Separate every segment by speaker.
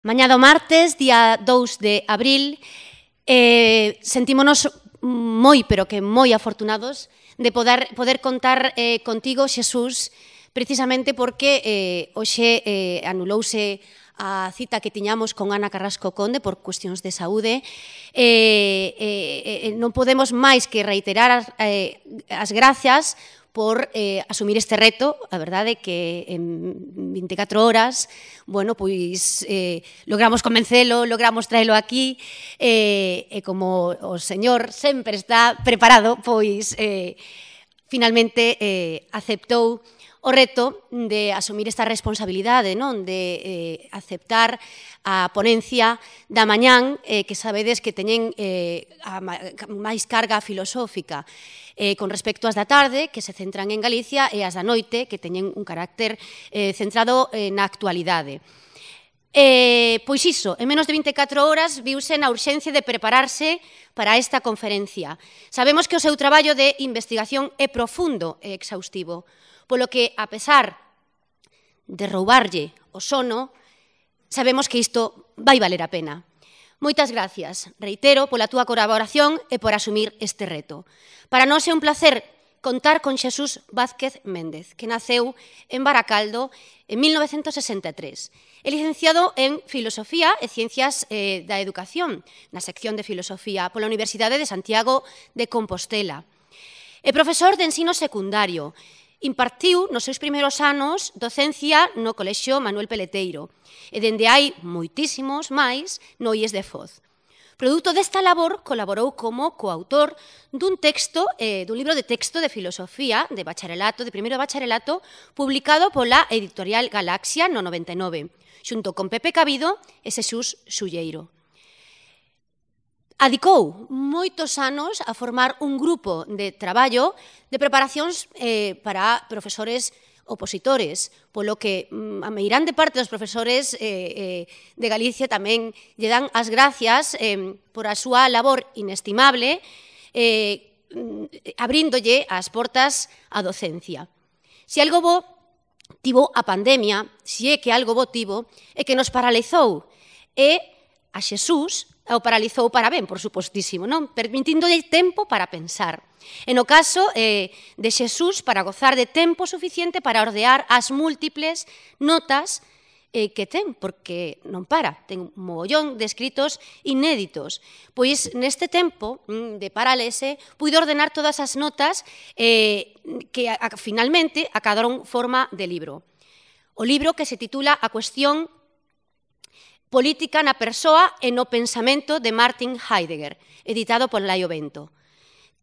Speaker 1: Mañá do martes, día 2 de abril, sentímonos moi, pero que moi afortunados de poder contar contigo, Xesús, precisamente porque hoxe anulouse a cita que tiñamos con Ana Carrasco Conde por cuestións de saúde. Non podemos máis que reiterar as gracias por asumir este reto. A verdade é que en 24 horas, bueno, pois logramos convencelo, logramos traelo aquí, e como o Señor sempre está preparado, pois finalmente aceptou o reto de asumir esta responsabilidade, non? De aceptar a ponencia da mañán, que sabedes que teñen máis carga filosófica con respecto ás da tarde, que se centran en Galicia, e as da noite, que teñen un carácter centrado na actualidade. Pois iso, en menos de 24 horas viuse na urxencia de prepararse para esta conferencia. Sabemos que o seu traballo de investigación é profundo e exhaustivo, polo que, a pesar de roubarlle o sono, sabemos que isto vai valer a pena. Moitas gracias, reitero, pola túa colaboración e por asumir este reto. Para nós é un placer contar con Xesús Vázquez Méndez, que naceu en Baracaldo en 1963. É licenciado en Filosofía e Ciencias da Educación, na sección de Filosofía, pola Universidade de Santiago de Compostela. É profesor de ensino secundario. Impartiu nos seus primeiros anos docencia no Colexio Manuel Peleteiro e dende hai moitísimos máis no IES de Foz. Produto desta labor, colaborou como coautor dun libro de texto de filosofía de bacharelato, de primeiro de bacharelato, publicado pola editorial Galaxia no 99, xunto con Pepe Cabido e Xesús Sulleiro. Adicou moitos anos a formar un grupo de traballo de preparacións para profesores opositores, polo que a meirande parte dos profesores de Galicia tamén lle dan as gracias por a súa labor inestimable, abríndolle as portas á docencia. Se algo bo tivo a pandemia, se é que algo bo tivo, é que nos paralizou, e a Xesús o paralizou para ben, por supostísimo, non? Permitíndolle tempo para pensar. E no caso de Xesús, para gozar de tempo suficiente para ordear as múltiples notas que ten, porque non para, ten un mogollón de escritos inéditos. Pois neste tempo de parálese, puido ordenar todas as notas que finalmente acabaron forma de libro. O libro que se titula A cuestión política na persoa e no pensamento de Martin Heidegger, editado por Laio Bento.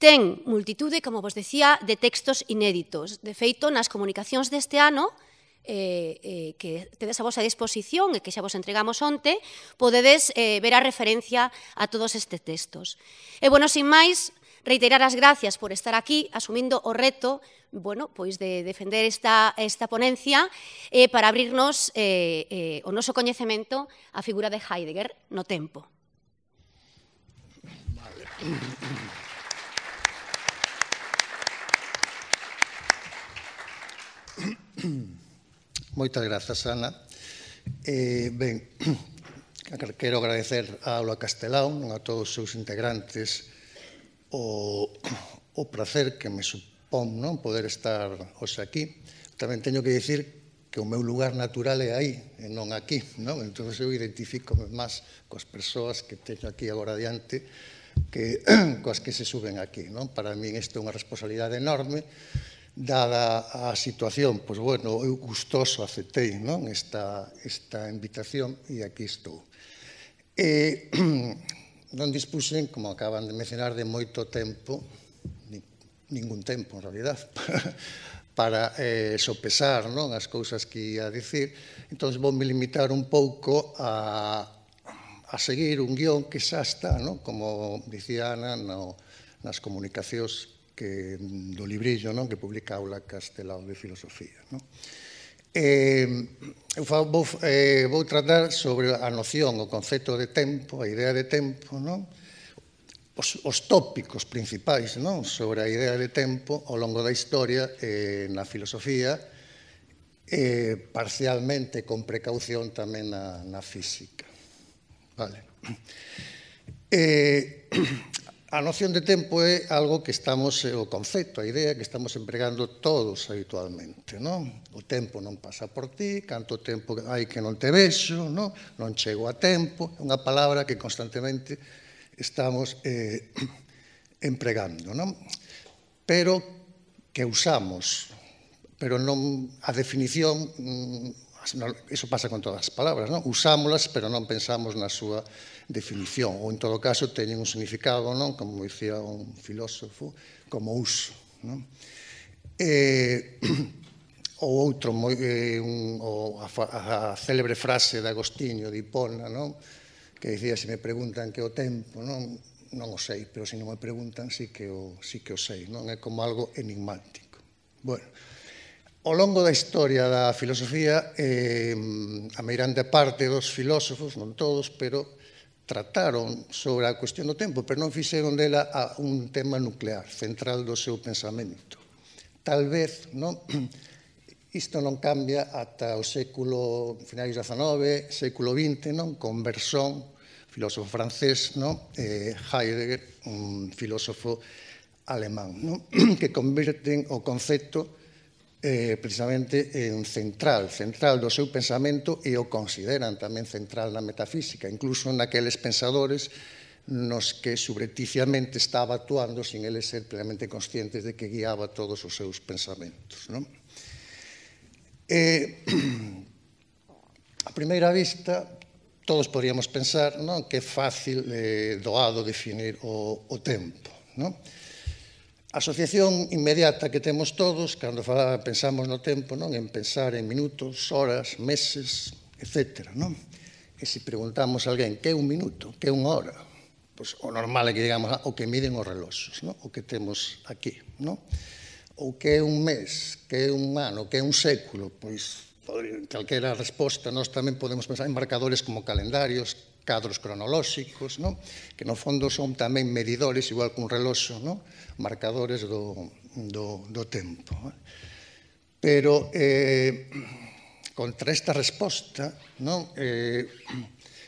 Speaker 1: Ten multitude, como vos decía, de textos inéditos. De feito, nas comunicacións deste ano, que tedes a vosa disposición e que xa vos entregamos onte, podedes ver a referencia a todos estes textos. E, bueno, sin máis, reiterar as gracias por estar aquí, asumindo o reto, bueno, pois de defender esta ponencia para abrirnos o noso coñecemento á figura de Heidegger no tempo.
Speaker 2: Moitas grazas, Ana. Ben, quero agradecer a Aula Castelao, a todos os seus integrantes, o prazer que me supón poder estar hoxe aquí. Tamén teño que dicir que o meu lugar natural é aí, e non aquí. Entón, eu identifico máis coas persoas que teño aquí agora adiante que coas que se suben aquí. Para min isto é unha responsabilidade enorme. Dada a situación, pois, bueno, eu gustoso aceptei esta invitación e aquí estou. Non dispuxen, como acaban de mencionar, de moito tempo, ningún tempo, en realidad, para sopesar as cousas que ia dicir. Entón, voume limitar un pouco a seguir un guión que xa está, como dicía Ana, nas comunicacións do librillo que publica Aula Castelao de Filosofía. Vou tratar sobre a noción, o concepto de tempo, a idea de tempo, os tópicos principais sobre a idea de tempo ao longo da historia na filosofía, parcialmente con precaución tamén na física. Vale. A noción de tempo é algo que estamos, o concepto, a idea que estamos empregando todos habitualmente, non? O tempo non pasa por ti, canto tempo hai que non te vexo, non chego a tempo, é unha palabra que constantemente estamos empregando, non? Pero que usamos, pero non a definición, iso pasa con todas as palabras, non? Usámolas, pero non pensamos na súa definición, ou en todo caso teñen un significado, non? Como dicía un filósofo, como uso, non? Ou outro, a célebre frase de Agostinho, de Hipona, non? Que dicía, se me preguntan que o tempo, non o sei, pero se non me preguntan sí que o sei, non? É como algo enigmático. Bueno, ao longo da historia da filosofía, a meirande parte dos filósofos, non todos, pero trataron sobre a cuestión do tempo, pero non fixeron dela un tema nuclear, central do seu pensamento. Tal vez, non? Isto non cambia ata o século, finais do XIX, século XX, non? Con Bergson, filósofo francés, non? Heidegger, un filósofo alemán, non? Que converten o concepto precisamente en central do seu pensamento e o consideran tamén central na metafísica, incluso naqueles pensadores nos que subrepticiamente estaba actuando sin eles ser plenamente conscientes de que guiaba todos os seus pensamentos, non? A primeira vista, todos podríamos pensar, non, que é fácil, doado definir o tempo, non? A asociación inmediata que temos todos, cando pensamos no tempo, non, en pensar en minutos, horas, meses, etc., non? E se preguntamos a alguén que é un minuto, que é unha hora, pois o normal é que digamos o que miden os reloxos, non? O que temos aquí, non? Ou que é un mes, que é un ano, que é un século, pois calquera resposta, nós tamén podemos pensar en marcadores como calendarios, cadros cronolóxicos, non? Que no fondo son tamén medidores, igual que un reloxo, non? Marcadores do tempo. Pero contra esta resposta, non?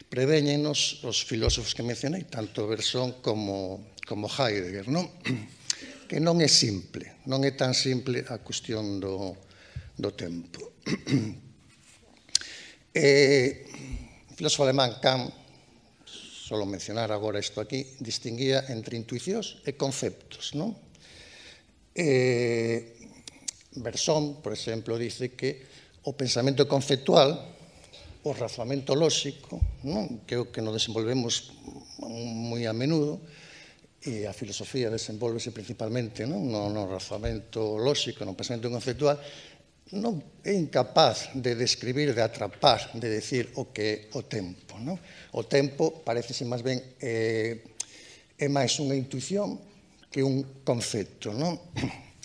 Speaker 2: Prevéñenos os filósofos que mencionei, tanto Bergson como Heidegger, non? Que non é simple, non é tan simple a cuestión do tempo. O filósofo alemán Kant, solo mencionar agora isto aquí, distinguía entre intuicións e conceptos, non? Bergson, por exemplo, dice que o pensamento conceptual, o razonamento lóxico, non? Que é o que nos desenvolvemos moi a menudo, e a filosofía desenvolvese principalmente no razonamento lóxico, no pensamento conceptual, non é incapaz de describir, de atrapar, de decir o que é o tempo. O tempo parecese máis ben é máis unha intuición que un concepto.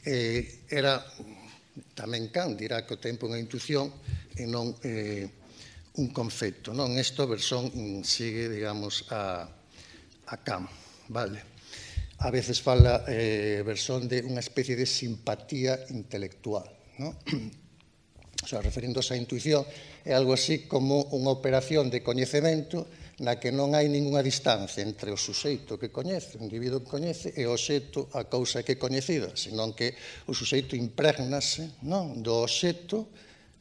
Speaker 2: Era tamén Kant dirá que o tempo é unha intuición e non un concepto. Isto Bergson sigue, digamos, a Kant, vale? A veces fala Bergson de unha especie de simpatía intelectual, o sea, referíndose á intuición, é algo así como unha operación de coñecemento na que non hai ninguna distancia entre o suxeito que coñece, o individuo que coñece, e o obxecto, a cousa que é coñecida, senón que o suxeito imprégnase do obxecto,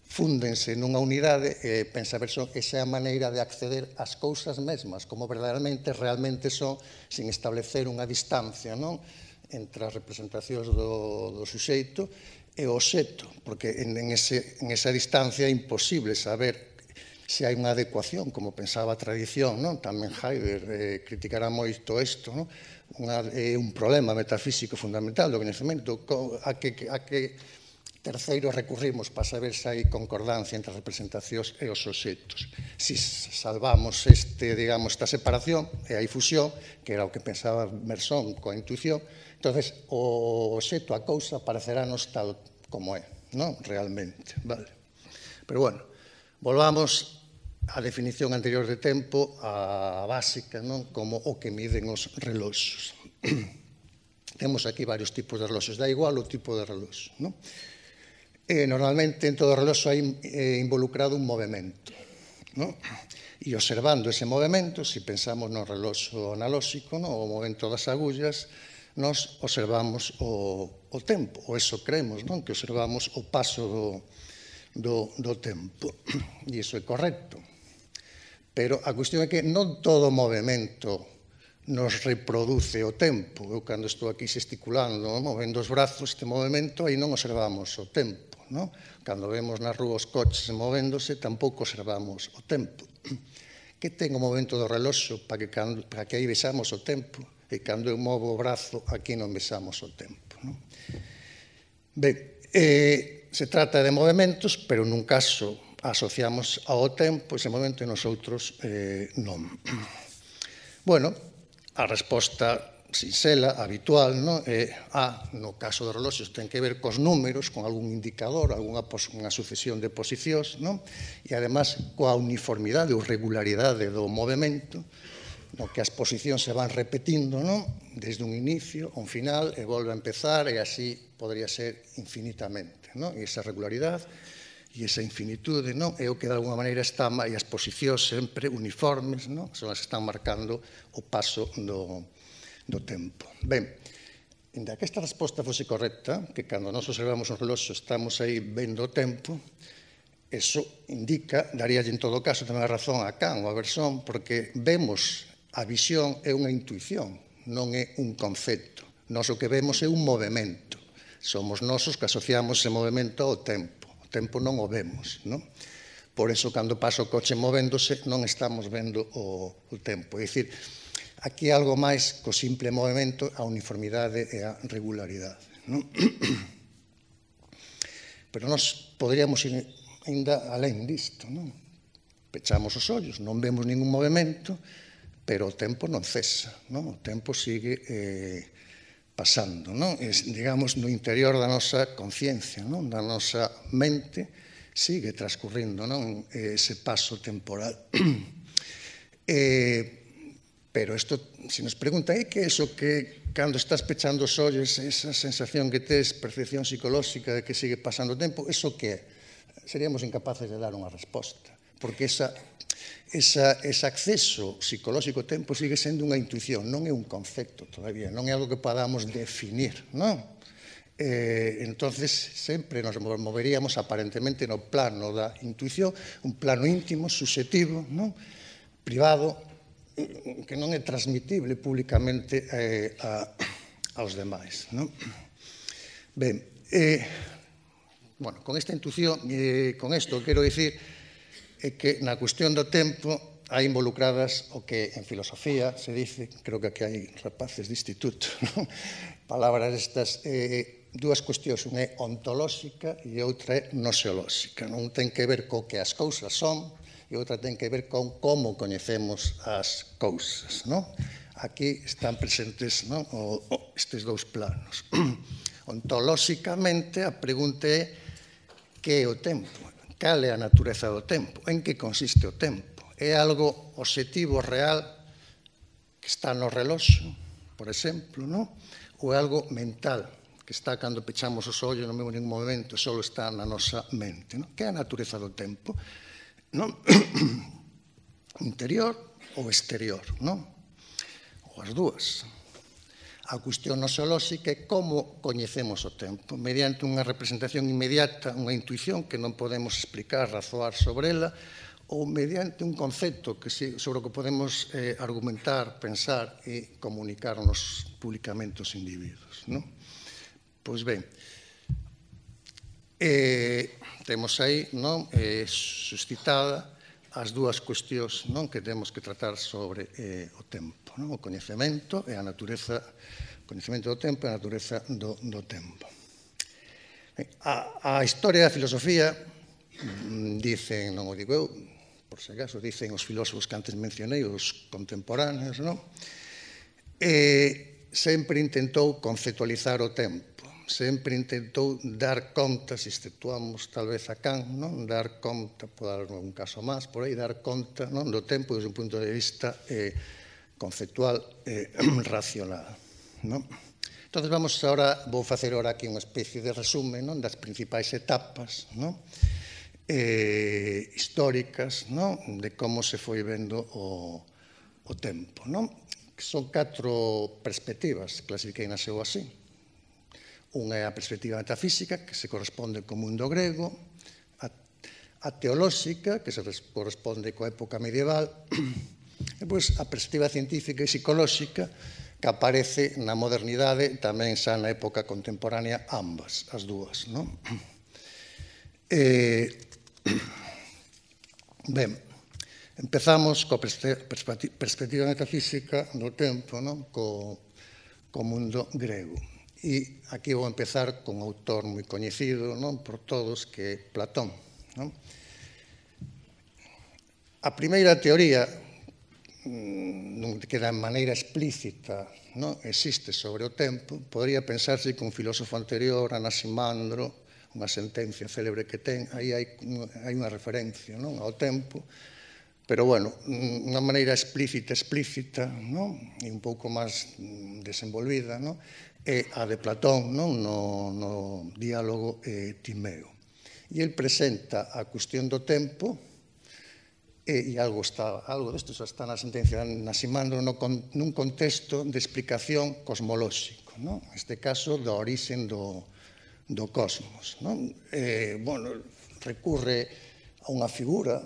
Speaker 2: fúndense nunha unidade, e pensa Bergson, esa é a maneira de acceder ás cousas mesmas, como verdadeiramente, realmente son, sin establecer unha distancia entre as representacións do suxeito e o obxecto, porque en esa distancia é imposible saber se hai unha adecuación, como pensaba a tradición, tamén Heidegger criticará moito isto, é un problema metafísico fundamental do coñecemento, a que terceiro recurrimos para saber se hai concordancia entre as representacións e os obxectos. Se salvamos esta separación e hai fusión, que era o que pensaba Bergson coa intuición, entonces o obxecto, a cousa, aparecerános tal como é, realmente, vale? Pero bueno, volvamos á definición anterior de tempo, a básica, como o que miden os reloxos. Temos aquí varios tipos de reloxos, dá igual o tipo de reloxo, Normalmente en todo reloxo hai involucrado un movimento, E observando ese movimento, se pensamos no reloxo analóxico, o movimento das agullas, nos observamos o tempo, ou eso creemos, que observamos o paso do tempo. E iso é correcto. Pero a cuestión é que non todo movimento nos reproduce o tempo. Eu, cando estou aquí gesticulando, movendo os brazos, este movimento, aí non observamos o tempo. Cando vemos na rúa os coches movéndose, tampouco observamos o tempo. Que ten o movimento do reloxo para que aí vexamos o tempo? E cando eu movo o brazo, aquí non vexamos o tempo. Ben, se trata de movimentos, pero nun caso asociamos ao tempo ese momento e nos outros non. Bueno, a resposta sinxela, habitual, é no caso dos reloxos ten que ver cos números, con algún indicador, unha sucesión de posicións, e además coa uniformidade ou regularidade do movimento, no que as posicións se van repetindo desde un inicio a un final e volve a empezar e así podría ser infinitamente. E esa regularidade e esa infinitude é o que de alguma maneira está, e as posicións sempre uniformes son as que están marcando o paso do tempo. Ben, inda que esta resposta fose correcta, que cando nos observamos un reloxo estamos aí vendo o tempo, eso indica, daríalle en todo caso tamén a razón a Kant ou a Bergson, porque vemos a visión é unha intuición, non é un concepto. Nós o que vemos é un movimento. Somos nosos que asociamos ese movimento ao tempo. O tempo non o vemos. Por eso, cando pasa o coche movéndose, non estamos vendo o tempo. É dicir, aquí algo máis co simple movimento, a uniformidade e a regularidade. Pero nós poderíamos ir ainda alén disto. Pechamos os ollos, non vemos ningún movimento, pero o tempo non cesa, o tempo sigue pasando, digamos, no interior da nosa conciencia, da nosa mente, sigue transcurrindo ese paso temporal. Pero isto, se nos preguntan, que é iso que cando estás pechando os ollos, esa sensación que tes, percepción psicolóxica de que sigue pasando o tempo, iso que é? Seríamos incapaces de dar unha resposta, porque ese acceso psicolóxico ao tempo sigue sendo unha intuición, non é un concepto todavía, non é algo que podamos definir, entonces sempre nos moveríamos aparentemente no plano da intuición, un plano íntimo, subxetivo, privado, que non é transmitible públicamente aos demais. Ben, con esta intuición, con isto quero dicir é que na cuestión do tempo hai involucradas o que en filosofía se dice, creo que aquí hai rapaces de instituto, palabras estas, dúas cuestións, unha é ontolóxica e outra é noseolóxica. Non ten que ver co que as cousas son e outra ten que ver con como coñecemos as cousas. Aquí están presentes estes dous planos. Ontolóxicamente, a pregunta é que é o tempo? Cal é a natureza do tempo? En que consiste o tempo? É algo obxectivo, real, que está no reloxo, por exemplo, ou é algo mental, que está cando pechamos os ollos, non vemos ningún momento, só está na nosa mente? Que é a natureza do tempo? Interior ou exterior? Ou as dúas. A cuestión noseolóxica é como coñecemos o tempo, mediante unha representación inmediata, unha intuición que non podemos explicar, razoar sobre ela, ou mediante un concepto sobre o que podemos argumentar, pensar e comunicarnos públicamente aos individuos. Pois ben, temos aí suscitada as dúas cuestións que temos que tratar sobre o tempo, o coñecemento e a natureza, o coñecemento do tempo e a natureza do tempo. A historia da filosofía, dicen, non o digo eu, por se acaso, dicen os filósofos que antes mencionei, os contemporáneos, sempre intentou conceptualizar o tempo, sempre intentou dar conta, se exceptuamos tal vez a Kant, dar conta, por dar un caso máis, por aí, dar conta do tempo desde un punto de vista conceptual racional. Entón, vou facer ahora aquí unha especie de resumen das principais etapas históricas, non? De como se foi vendo o tempo, non? Son 4 perspectivas, clasifiquei na seu así. Unha é a perspectiva metafísica, que se corresponde co mundo grego, a teolóxica, que se corresponde coa época medieval, e pois a perspectiva científica e psicolóxica, que aparece na modernidade, tamén xa na época contemporánea, ambas, as dúas, non? Ben, empezamos coa perspectiva metafísica do tempo, non? Co mundo grego. E aquí vou empezar con un autor moi coñecido, non? Por todos, que é Platón, non? A primeira teoría, que de maneira explícita non existe sobre o tempo, podría pensarse que un filósofo anterior, Anaximandro, unha sentencia célebre que ten, aí hai unha referencia non ao tempo, pero, bueno, unha maneira explícita, non? E un pouco máis desenvolvida, non? É a de Platón, non? No diálogo Timeo. E el presenta a cuestión do tempo, e algo desto xa está na sentencia de Anaximandro nun contexto de explicación cosmolóxico, non? Neste caso, da orixe do cosmos, non? Bueno, recurre a unha figura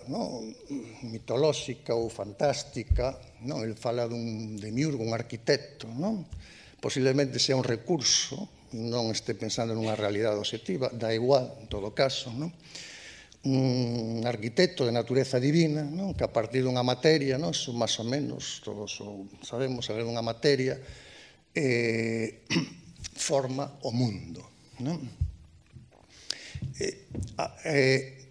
Speaker 2: mitolóxica ou fantástica, non? El fala dun demiurgo, un arquitecto, non? Posiblemente sea un recurso, non este pensando nunha realidade obxectiva, dá igual, en todo caso, non? Un arquitecto de natureza divina, non? Que a partir dunha materia, non? Son máis ou menos, todos sabemos, a ver dunha materia, forma o mundo, non?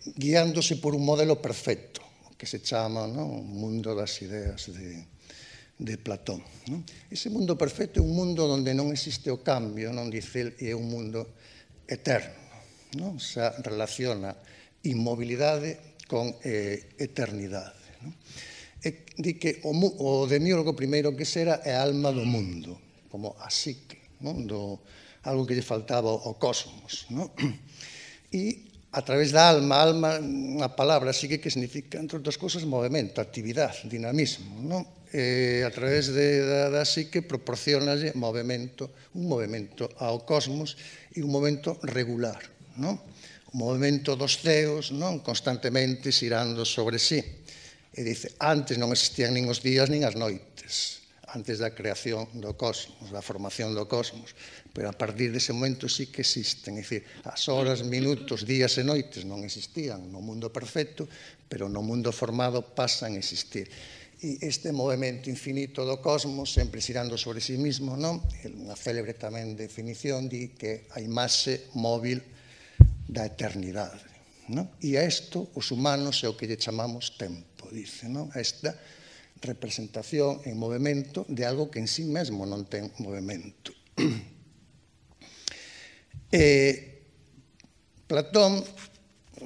Speaker 2: Guiándose por un modelo perfecto, que se chama, non? O mundo das ideas de Platón, non? Ese mundo perfecto é un mundo onde non existe o cambio, non? Dice el, é un mundo eterno, non? Se relaciona inmobilidade con eternidade. Di que o demiurgo primeiro que será é a alma do mundo, como a psique, algo que lle faltaba ao cosmos. E a través da alma, unha palabra psique que significa, entre outras cousas, movimento, actividade, dinamismo. A través da psique proporcionalle un movimento ao cosmos e un movimento regular, non? O movimento dos ceos, non? Constantemente xirando sobre sí. E dice, antes non existían nin os días nin as noites, antes da creación do cosmos, da formación do cosmos, pero a partir dese momento sí que existen, é dicir, as horas, minutos, días e noites non existían no mundo perfecto, pero no mundo formado pasan a existir. E este movimento infinito do cosmos, sempre xirando sobre sí mismo, non? Unha célebre tamén definición di que a imaxe móvil da eternidade, non? E a isto, os humanos, é o que lle chamamos tempo, dice, non? A esta representación en movimento de algo que en sí mesmo non ten movimento. Platón,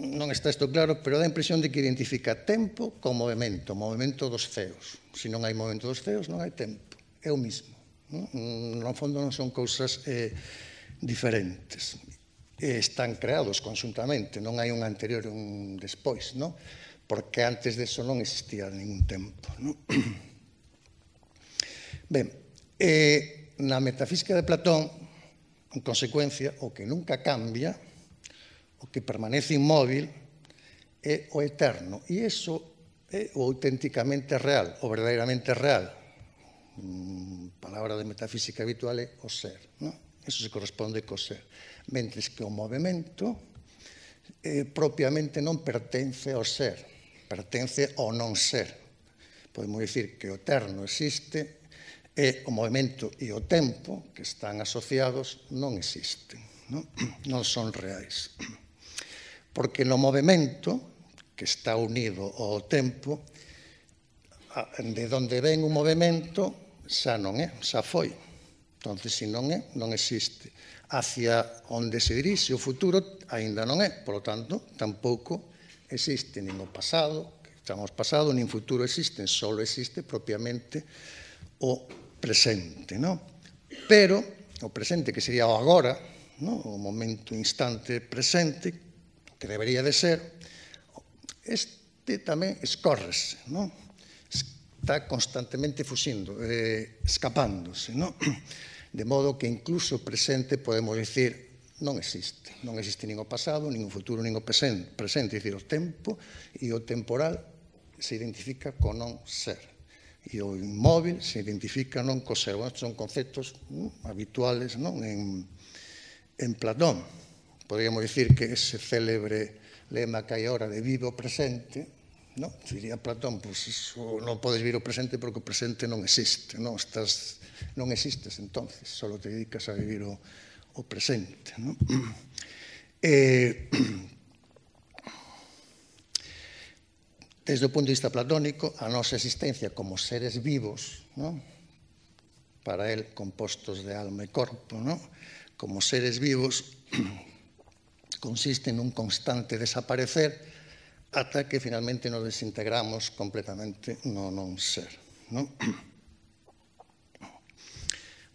Speaker 2: non está isto claro, pero dá a impresión de que identifica tempo con movimento, movimento dos ceos. Se non hai movimento dos ceos, non hai tempo, é o mismo. No fondo non son cousas diferentes. Están creados conxuntamente, non hai un anterior e un despois, non? Porque antes deso non existía ningún tempo, non? Ben, na metafísica de Platón, en consecuencia, o que nunca cambia, o que permanece inmóvil, é o eterno. E iso é o auténticamente real, o verdadeiramente real. Palabra de metafísica habitual é o ser, non? Iso se corresponde co ser. Mentres que o movimento propiamente non pertence ao ser, pertence ao non ser. Podemos dicir que o eterno existe e o movimento e o tempo que están asociados non existen, non son reais. Porque no movimento que está unido ao tempo, de onde ven o movimento xa non é, xa foi. Entón, se non é, non existe. Hacia onde se dirixe o futuro aínda non é, por lo tanto, tampouco existe nin o pasado, que chamamos pasado, nin futuro existen, só existe propiamente o presente, non? Pero o presente, que sería o agora, o momento instante presente, que debería de ser, este tamén escórrese, non? Está constantemente fuxindo, escapándose, non? De modo que incluso o presente podemos dicir non existe. Non existe nin o pasado, nin o futuro, nin o presente. É dicir, o tempo e o temporal se identifica co non ser. E o inmóvil se identifica non co ser. Estes son conceptos habituales en Platón. Podríamos dicir que ese célebre lema que hai ahora de vive o presente, diría Platón, non podes vivir o presente porque o presente non existe, non existes entonces, só te dedicas a vivir o presente. Desde o punto de vista platónico, a nosa existencia como seres vivos, para él compostos de alma e corpo, como seres vivos, consiste nun constante desaparecer ata que finalmente nos desintegramos completamente no non ser.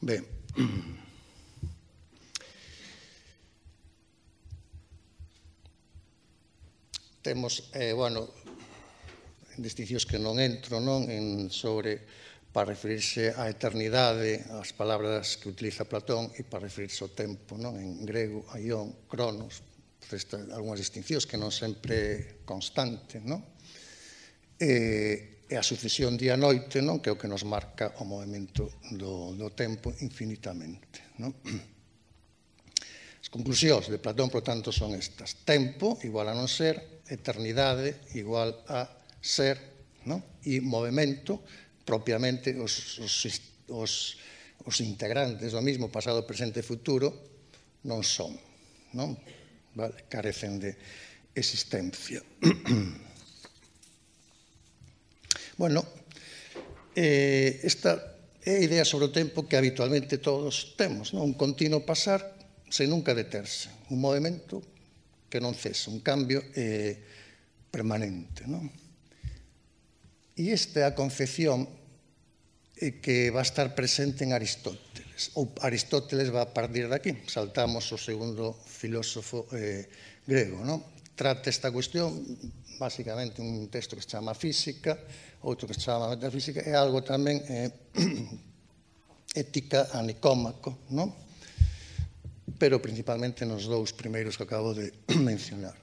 Speaker 2: Ben, temos, distincións que non entro, sobre, para referirse á eternidade, as palabras que utiliza Platón, e para referirse ao tempo, en grego, aion, cronos, algunhas distincións que non sempre constante, e a sucesión día-noite, que é o que nos marca o movimento do tempo infinitamente. As conclusións de Platón, por tanto, son estas. Tempo igual a non ser, eternidade igual a ser, e movimento, propiamente os integrantes do mismo, pasado, presente e futuro, non son, carecen de existencia. Bueno, esta é a idea sobre o tempo que habitualmente todos temos, un continuo pasar sen nunca deterse, un movimento que non cesa, un cambio permanente. E esta é a concepción que va a estar presente en Aristóteles. Ou Aristóteles va a partir de aquí. Saltamos o segundo filósofo grego. Trata esta cuestión, basicamente, un texto que se chama Física, outro que se chama Metafísica, e algo tamén ética a Nicómaco, pero principalmente nos dous primeiros que acabo de mencionar.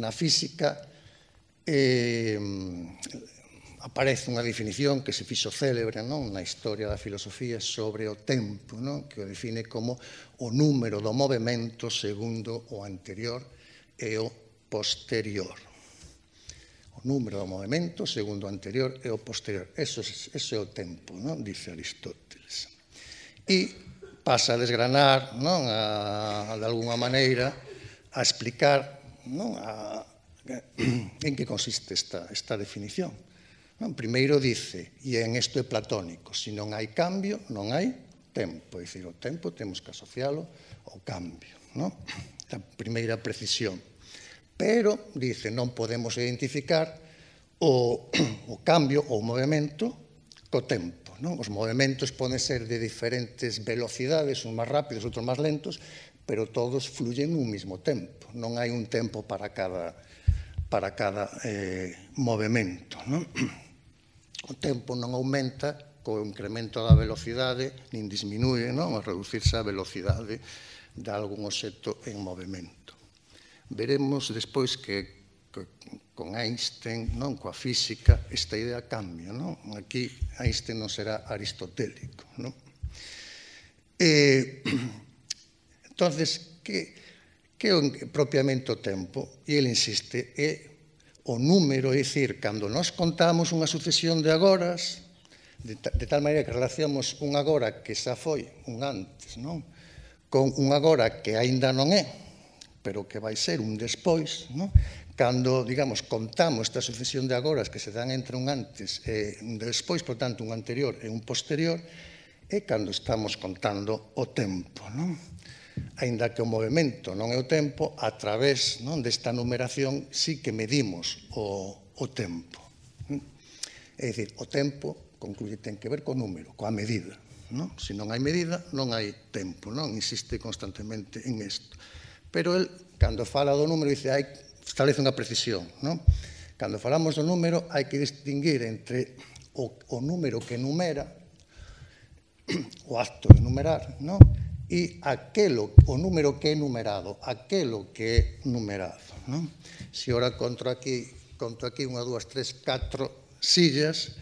Speaker 2: Na física aparece unha definición que se fixo célebre na historia da filosofía sobre o tempo, que o define como o número do movimento segundo o anterior e o posterior. O número do movimento segundo o anterior e o posterior. Eso é o tempo, dice Aristóteles. E pasa a desgranar, de alguna maneira, a explicar en que consiste esta definición. Primeiro dice, e en isto é platónico, se non hai cambio, non hai tempo. É dicir, o tempo temos que asociálo ao cambio. Esta primeira precisión. Pero, dice, non podemos identificar o cambio ou o movimento co tempo. Os movimentos poden ser de diferentes velocidades, uns máis rápidos, outros máis lentos, pero todos fluyen nun mismo tempo. Non hai un tempo para cada movimento. O tempo non aumenta co incremento da velocidade, nin disminúe ao reducirse a velocidade de algún obxecto en movimento. Veremos despois que con Einstein, coa física, esta idea cambia. Aquí Einstein non será aristotélico. Entonces, que é propiamente o tempo? E ele insiste, é o número, é dicir, cando nós contamos unha sucesión de agoras, de tal maneira que relacionamos un agora que xa foi un antes, con un agora que aínda non é, pero que vai ser un despois, cando, digamos, contamos esta sucesión de agoras que se dan entre un antes e un despois, por tanto, un anterior e un posterior, é cando estamos contando o tempo, aínda que o movimento non é o tempo, a través desta numeración sí que medimos o tempo. É dicir, o tempo, concluye, ten que ver co número, coa medida. Se non hai medida, non hai tempo, insiste constantemente en isto. Pero el, cando fala do número, dice, establece unha precisión, non? Cando falamos do número, hai que distinguir entre o número que numera, o acto de numerar, non? E o número que é numerado, aquelo que é numerado, non? Se ora conto aquí 1, 2, 3, 4 sillas,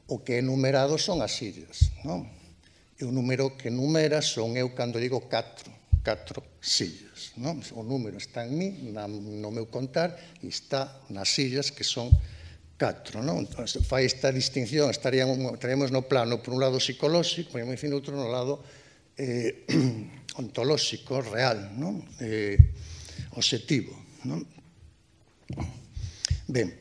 Speaker 2: o que é numerado son as sillas, non? E o número que numera son eu cando digo 4 sillas, non? O número está en mí, no meu contar, e está nas sillas que son 4, non? Entón, fai esta distinción, estaríamos no plano, por un lado psicolóxico, por outro no lado ontolóxico, real, non? Obxectivo, non? Ben,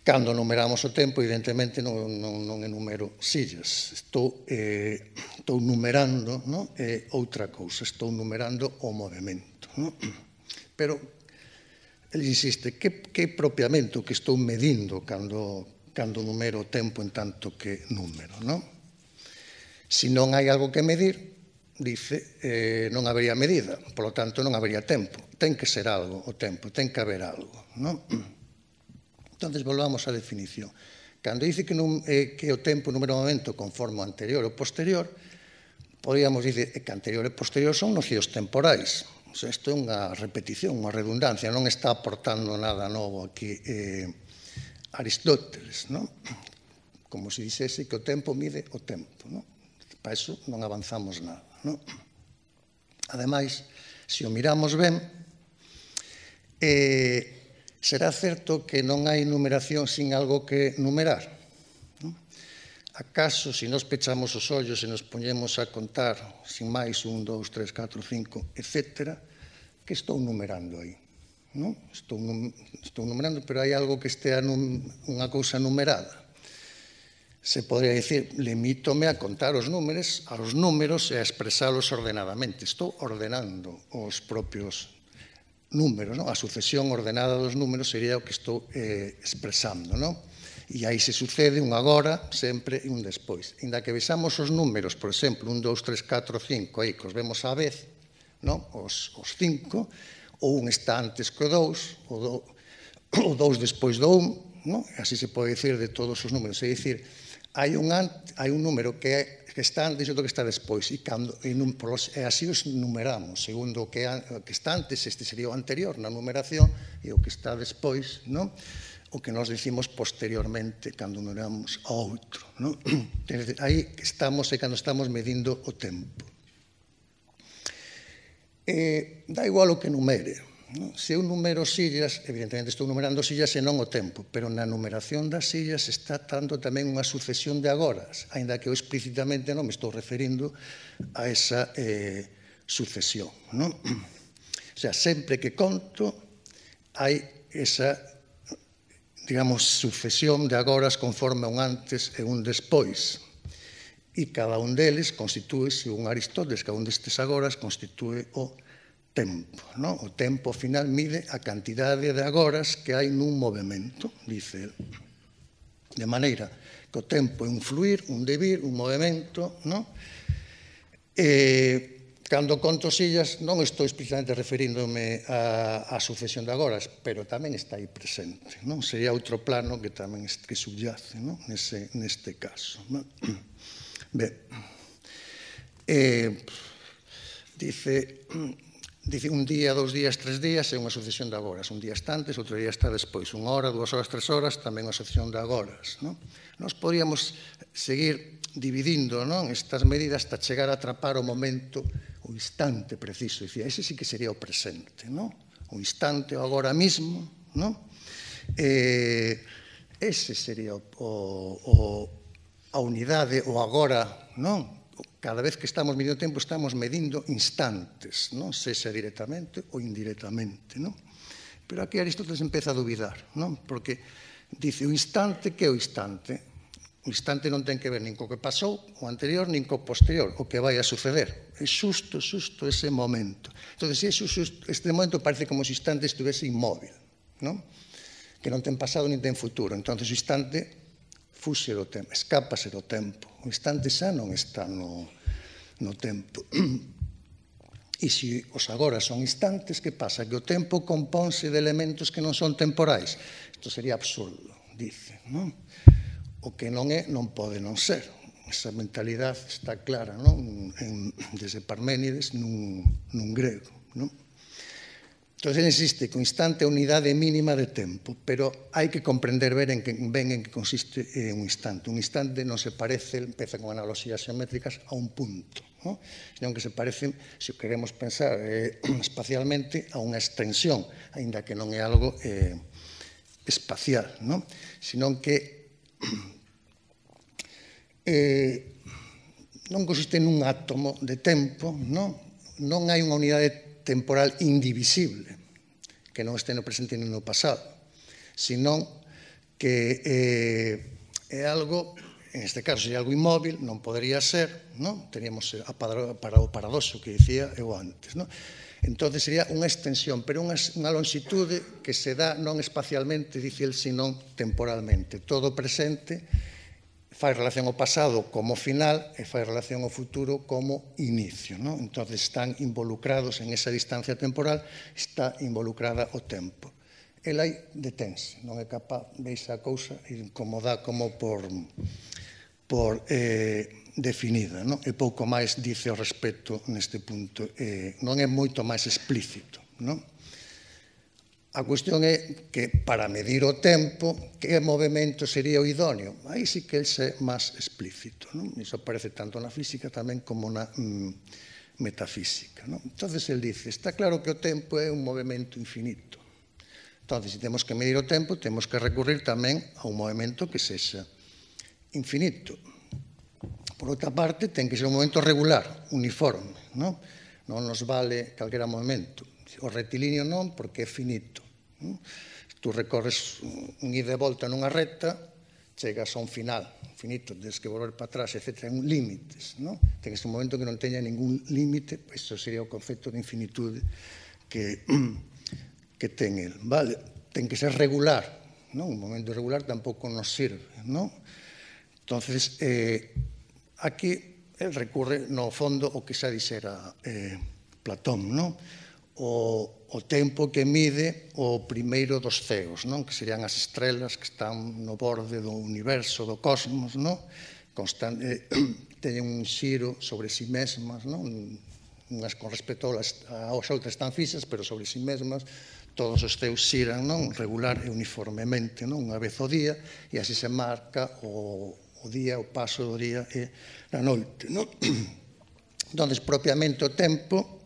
Speaker 2: cando numeramos o tempo, evidentemente non enumero sillas, estou numerando outra cousa, estou numerando o movimento. Pero, ele insiste, que propiamente o que estou medindo cando numero o tempo en tanto que número, non? Se non hai algo que medir, dice, non habería medida, polo tanto non habería tempo. Ten que ser algo o tempo, ten que haber algo, non? Entón, volvamos á definición. Cando dice que o tempo número o momento conforme o anterior ou posterior, podríamos dicir que anterior e posterior son nocios temporais. Isto é unha repetición, unha redundancia, non está aportando nada novo aquí Aristóteles, non? Como se dixese que o tempo mide o tempo, non? Para iso non avanzamos nada, non? Ademais, se o miramos ben, será certo que non hai numeración sin algo que numerar. Acaso, se nos pechamos os ollos e nos poñemos a contar, sin máis, 1, 2, 3, 4, 5, etc., que estou numerando aí? Estou numerando, pero hai algo que estea unha cousa numerada. Se podría dicir, limítome a contar os números e a expresalos ordenadamente. Estou ordenando os propios números, a sucesión ordenada dos números sería o que estou expresando, non? E aí se sucede un agora, sempre, e un despois. Inda que vexamos os números, por exemplo, 1, 2, 3, 4, 5, aí que os vemos á vez, os 5, o un está antes que o 2, o 2 despois do 1, así se pode dicir de todos os números. É dicir, hai un número que está antes e outro que está despois, e así os numeramos, segundo o que está antes, este sería o anterior na numeración, e o que está despois, o que nos dicimos posteriormente cando numeramos a outro. Aí estamos, cando estamos medindo o tempo. Dá igual o que numere. Se eu numero sillas, evidentemente estou numerando sillas e non o tempo, pero na numeración das sillas está dando tamén unha sucesión de agoras, aínda que eu explícitamente non me estou referindo a esa sucesión. O sea, sempre que conto hai esa, digamos, sucesión de agoras conforme un antes e un despois. E cada un deles constitúe, según Aristóteles, cada un destes agoras constitúe o tempo. O tempo, ao final, mide a cantidade de agoras que hai nun movimento, dice el. De maneira que o tempo é un fluir, un devir, un movimento, cando conto sillas non estou explícitamente referíndome á sucesión de agoras, pero tamén está aí presente. Sería outro plano que tamén subyace neste caso. Ben, dice un día, 2 días, 3 días é unha sucesión de agoras. Un día está antes, outro día está despois. 1 hora, 2 horas, 3 horas, tamén unha sucesión de agoras. Nos podríamos seguir dividindo estas medidas hasta chegar a atrapar o momento, o instante preciso. Ese sí que sería o presente. O instante, o agora mismo. Ese sería a unidade, o agora, cada vez que estamos medindo tempo, estamos medindo instantes, sexa directamente ou indirectamente. Pero aquí Aristóteles empeza a dubidar, porque dice, o instante, que é o instante? O instante non ten que ver nin co que pasou, o anterior, nin co posterior, o que vai a suceder. É xusto ese momento. Entón, este momento parece como se o instante estuvese inmóvil, que non ten pasado nin ten futuro. Entón, o instante fuxe do tempo, escápase do tempo. O instante xa non está no tempo. E se os agora son instantes, que pasa? Que o tempo compónse de elementos que non son temporais. Isto sería absurdo, dice, non? O que non é, non pode non ser. Esa mentalidade está clara, non? Desde Parménides nun grego, non? Entón, existe que o instante é a unidade mínima de tempo, pero hai que comprender ben en que consiste un instante. Un instante non se parece, empeza con analogías xeométricas, a un punto, non? Senón que se parece, se queremos pensar espacialmente, a unha extensión, aínda que non é algo espacial, non? Senón que non consiste nun átomo de tempo, non? Non hai unha unidade temporal indivisible, que non este no presente ni no pasado, senón que é algo, en este caso sería algo inmóvil, non podería ser, non? Teríamos o paradoxo que dicía eu antes, non? Entón, sería unha extensión, pero unha longitude que se dá non espacialmente, dice el, senón temporalmente. Todo presente fai relación ao pasado como final e fai relación ao futuro como inicio, non? Entón, están involucrados en esa distancia temporal, está involucrada o tempo. El aí detense, non é capaz, veis a cousa como dá como por definida, non? E pouco máis dice ao respecto neste punto, non é moito máis explícito, non? A cuestión é que para medir o tempo, que movimento sería o idóneo? Aí sí que é máis explícito, non? Iso aparece tanto na física tamén como na metafísica, non? Entón, el dice, está claro que o tempo é un movimento infinito. Entón, se temos que medir o tempo, temos que recurrir tamén a un movimento que sexa infinito. Por outra parte, ten que ser un movimento regular, uniforme, non? Non nos vale calquera movimento. O rectilíneo non, porque é finito. Tú recorres un ida e volta nunha recta, chegas a un final finito, tens que volver para atrás, etc. Ten límites, non? Ten que ser un momento que non teña ningún límite, iso sería o concepto de infinitude que ten el, vale? Ten que ser regular, non? Un momento regular tampouco nos sirve, non? Entonces, aquí el recurre no fondo o que xa dixera Platón, non? O tempo que mide o primeiro dos ceos, non? Que serían as estrelas que están no borde do universo, do cosmos, non? Teñen un xiro sobre si mesmas, non? Unhas con respecto aos outras están fixas, pero sobre si mesmas, todos os ceos xiran, non? Regular e uniformemente, non? Unha vez ao día, e así se marca o día, o paso do día e a noite, non? Entón, propiamente o tempo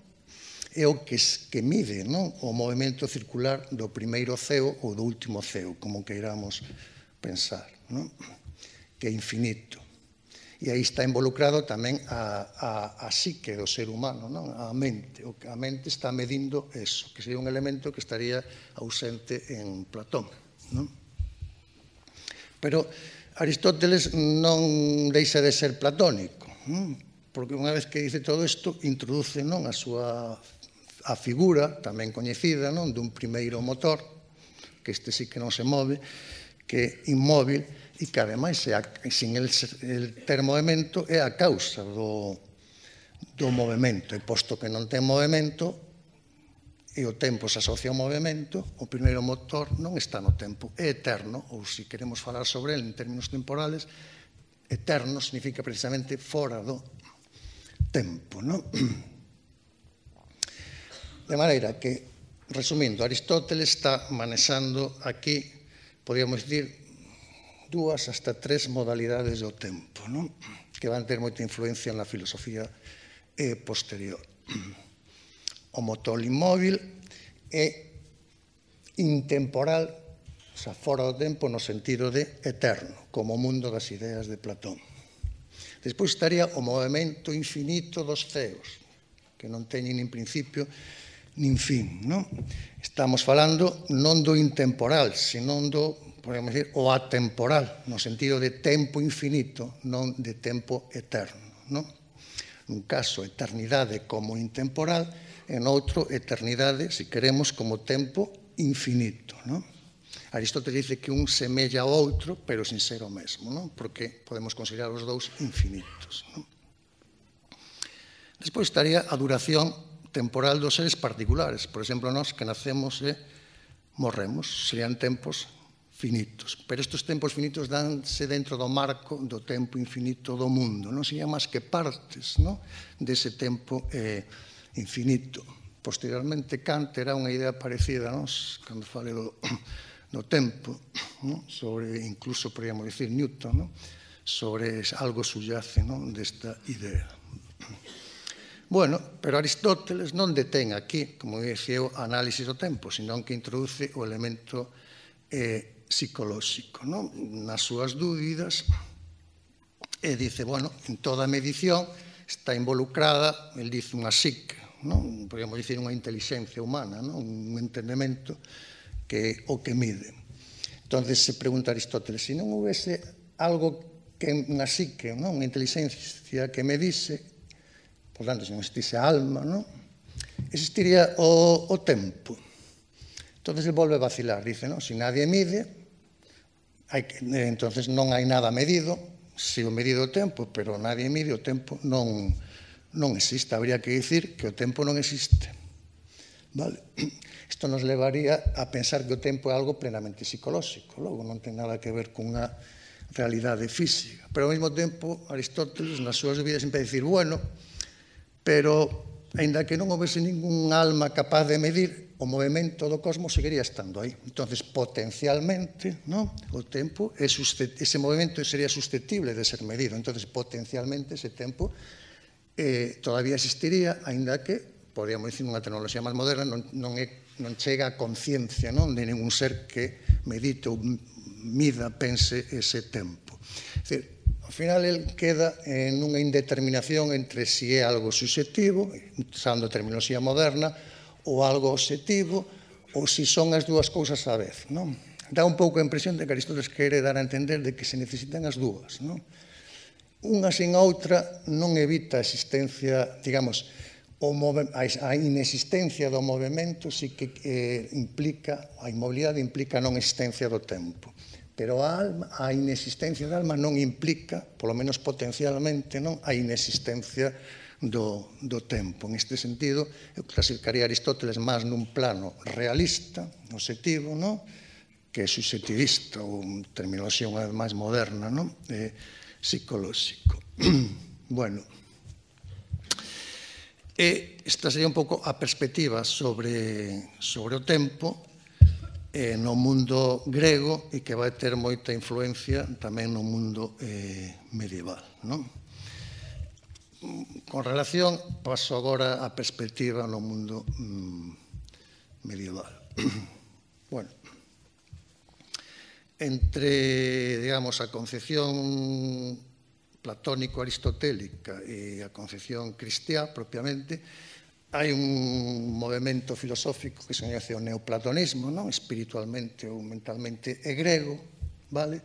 Speaker 2: é o que mide, non? O movimento circular do primeiro ceo ou do último ceo, como queiramos pensar, non? Que é infinito. E aí está involucrado tamén a psique do ser humano, non? A mente. A mente está medindo eso, que sería un elemento que estaría ausente en Platón, non? Pero Aristóteles non deixa de ser platónico, non? Porque unha vez que dice todo isto, introduce, non, a figura tamén coñecida, non, dun primeiro motor, que este sí que non se move, que é inmóvil e que ademais, sin el ter movimento, é a causa do movimento. E posto que non ten movimento e o tempo se asocia ao movimento, o primeiro motor non está no tempo, é eterno, ou se queremos falar sobre ele en términos temporales, eterno significa precisamente fora do tempo, non? De maneira que, resumindo, Aristóteles está manexando aquí, podríamos dicir, 2 hasta 3 modalidades do tempo, non? Que van ter moita influencia na filosofía posterior. O motor inmóvil é intemporal, o sea, fora do tempo no sentido de eterno, como o mundo das ideas de Platón. Despois estaría o movimento infinito dos ceos, que non teñen nin principio nin fin, non? Estamos falando non do intemporal, senón do, podemos dicir, o atemporal, no sentido de tempo infinito, non de tempo eterno, non? Nun caso, eternidade como intemporal, en outro, eternidade, se queremos, como tempo infinito, non? Aristóteles dice que un semella ao outro, pero sin ser o mesmo, non? Porque podemos considerar os dous infinitos, non? Despois estaría a duración temporal dos seres particulares. Por exemplo, nós que nacemos e morremos, serían tempos finitos. Pero estes tempos finitos danse dentro do marco do tempo infinito do mundo. Non serían máis que partes dese tempo infinito. Posteriormente, Kant era unha idea parecida a nós, cando fale do tempo, sobre, incluso podríamos dicir Newton, sobre algo subyace desta idea. Bueno, pero Aristóteles non detén aquí, como dicía eu, a análisis do tempo, senón que introduce o elemento psicolóxico nas súas dúbidas e dice, bueno, en toda medición está involucrada, el dice, unha psique, podríamos dicir unha inteligencia humana, un entendemento que o que mide. Entonces se pregunta Aristóteles, se non houvese algo que unha psique, unha inteligencia que medise, por tanto, se non existise a alma, existiría o tempo. Entonces ele volve a vacilar, dice, se nadie mide, entonces non hai nada medido, se o medido o tempo, pero nadie mide, o tempo non existe. Habría que dicir que o tempo non existe. Vale? Isto nos levaría a pensar que o tempo é algo plenamente psicolóxico, logo non ten nada que ver cunha realidade física. Pero ao mesmo tempo, Aristóteles, nas súas vidas, sempre dicir, bueno, pero, aínda que non houvese ningún alma capaz de medir, o movimento do cosmos seguiría estando aí. Entonces, potencialmente, o tempo, ese movimento sería susceptible de ser medido. Entonces, potencialmente, ese tempo todavía existiría, aínda que, podríamos dicir, unha tecnoloxía máis moderna non chega a conciencia de ningún ser que medite ou mida, pense ese tempo. É dicir, ao final, el queda en unha indeterminación entre si é algo subxectivo, usando a terminoloxía moderna, ou algo objetivo, ou se son as dúas cousas á vez. Dá un pouco a impresión de que Aristóteles quere dar a entender de que se necesitan as dúas. Unha sin outra non evita a existencia, digamos, a inexistencia do movimento si que implica, a inmobilidade implica a non existencia do tempo. Pero a inexistencia da alma non implica, polo menos potencialmente, a inexistencia do tempo. En este sentido, eu clasificaría Aristóteles máis nun plano realista, objetivo, que subxectivista, ou terminoloxía unha vez máis moderna, psicolóxico. Bueno, esta sería un pouco a perspectiva sobre o tempo no mundo grego e que vai ter moita influencia tamén no mundo medieval. Con relación, paso agora a perspectiva no mundo medieval. Bueno, entre, digamos, a concepción platónico-aristotélica e a concepción cristiá, propiamente, hai un movimento filosófico que se coñece o neoplatonismo, espiritualmente ou mentalmente é grego, vale?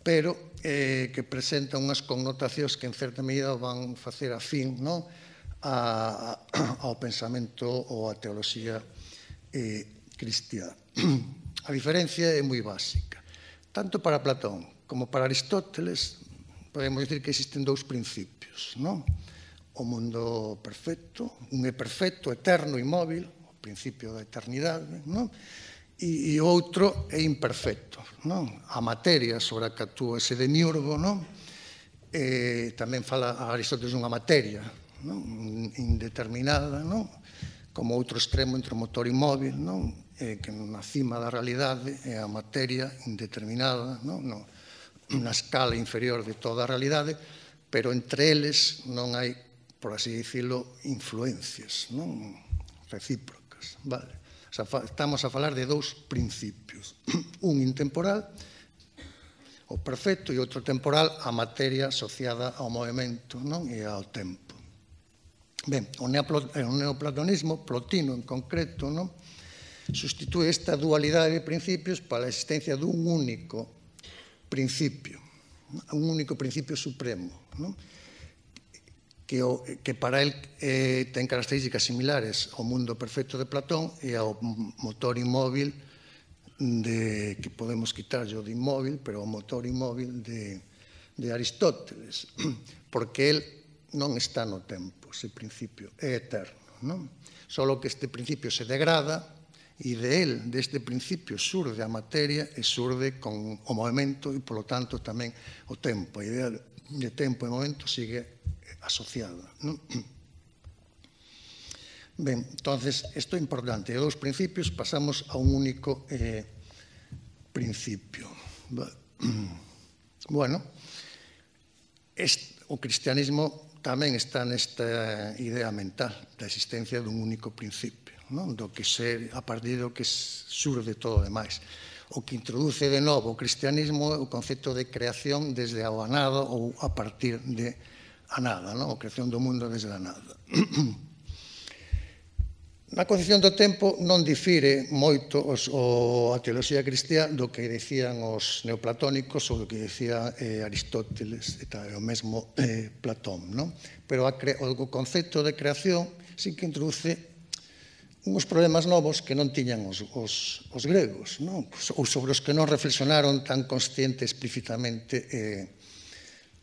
Speaker 2: Pero que presenta unhas connotacións que en certa medida van facer afín ao pensamento ou á teoloxía cristiá. A diferencia é moi básica. Tanto para Platón como para Aristóteles podemos dicir que existen dous principios, o mundo perfecto, un é perfecto, eterno, inmóvil, o principio da eternidade, e o outro é imperfecto, a materia sobre a que actúa ese demiurgo, tamén fala a Aristóteles dunha materia indeterminada, como outro extremo entre o motor inmóvil, que na cima da realidade é a materia indeterminada, na escala inferior de toda a realidade, pero entre eles non hai, por así dicilo, influencias recíprocas, vale? Estamos a falar de dous principios, un intemporal, o perfecto, e outro temporal, a materia asociada ao movimento e ao tempo. Ben, o neoplatonismo, Plotino en concreto, sustitúe esta dualidade de principios para a existencia dun único principio supremo, que para el ten características similares ao mundo perfecto de Platón e ao motor inmóvil que podemos quitar yo de inmóvil, pero ao motor inmóvil de Aristóteles, porque el non está no tempo, ese principio é eterno. non? Solo que este principio se degrada e deste principio surde a materia e surde con o movimento e, polo tanto, tamén o tempo. A idea de tempo e momento sigue asociada, non? Ben, entonces, isto é importante. De dous principios pasamos a un único principio. Bueno, o cristianismo tamén está nesta idea mental da existencia dun único principio, non? Do que ser, a partir do que surde todo o demais. O que introduce de novo o cristianismo é o concepto de creación desde a nada ou a partir de a nada, non? A creación do mundo desde a nada. Na concepción do tempo non difire moito a teoloxía cristiá do que decían os neoplatónicos ou do que decía Aristóteles e o mesmo Platón, non? Pero o concepto de creación sí que introduce uns problemas novos que non tiñan os gregos, non? Ou sobre os que non reflexionaron tan consciente explícitamente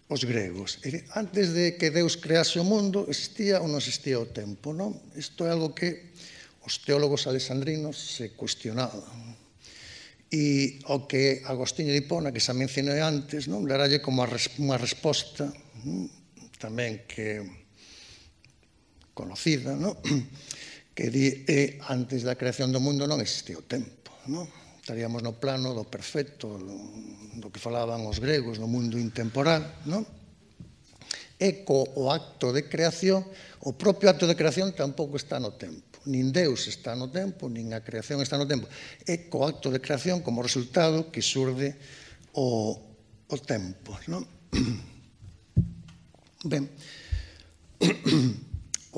Speaker 2: os gregos. Antes de que Deus crease o mundo, existía ou non existía o tempo, non? Isto é algo que os teólogos alexandrinos se cuestionaban. E o que Agostinho de Hipona, que xa mencionei antes, non, daralle como unha resposta tamén que conocida, non? Que di antes da creación do mundo non existía o tempo, non? Estaríamos no plano do perfecto, do que falaban os gregos, no mundo intemporal, non? E o acto de creación, o propio acto de creación tampouco está no tempo. Nin Deus está no tempo, nin a creación está no tempo. É co acto de creación como resultado que surde o tempo, non? Ben,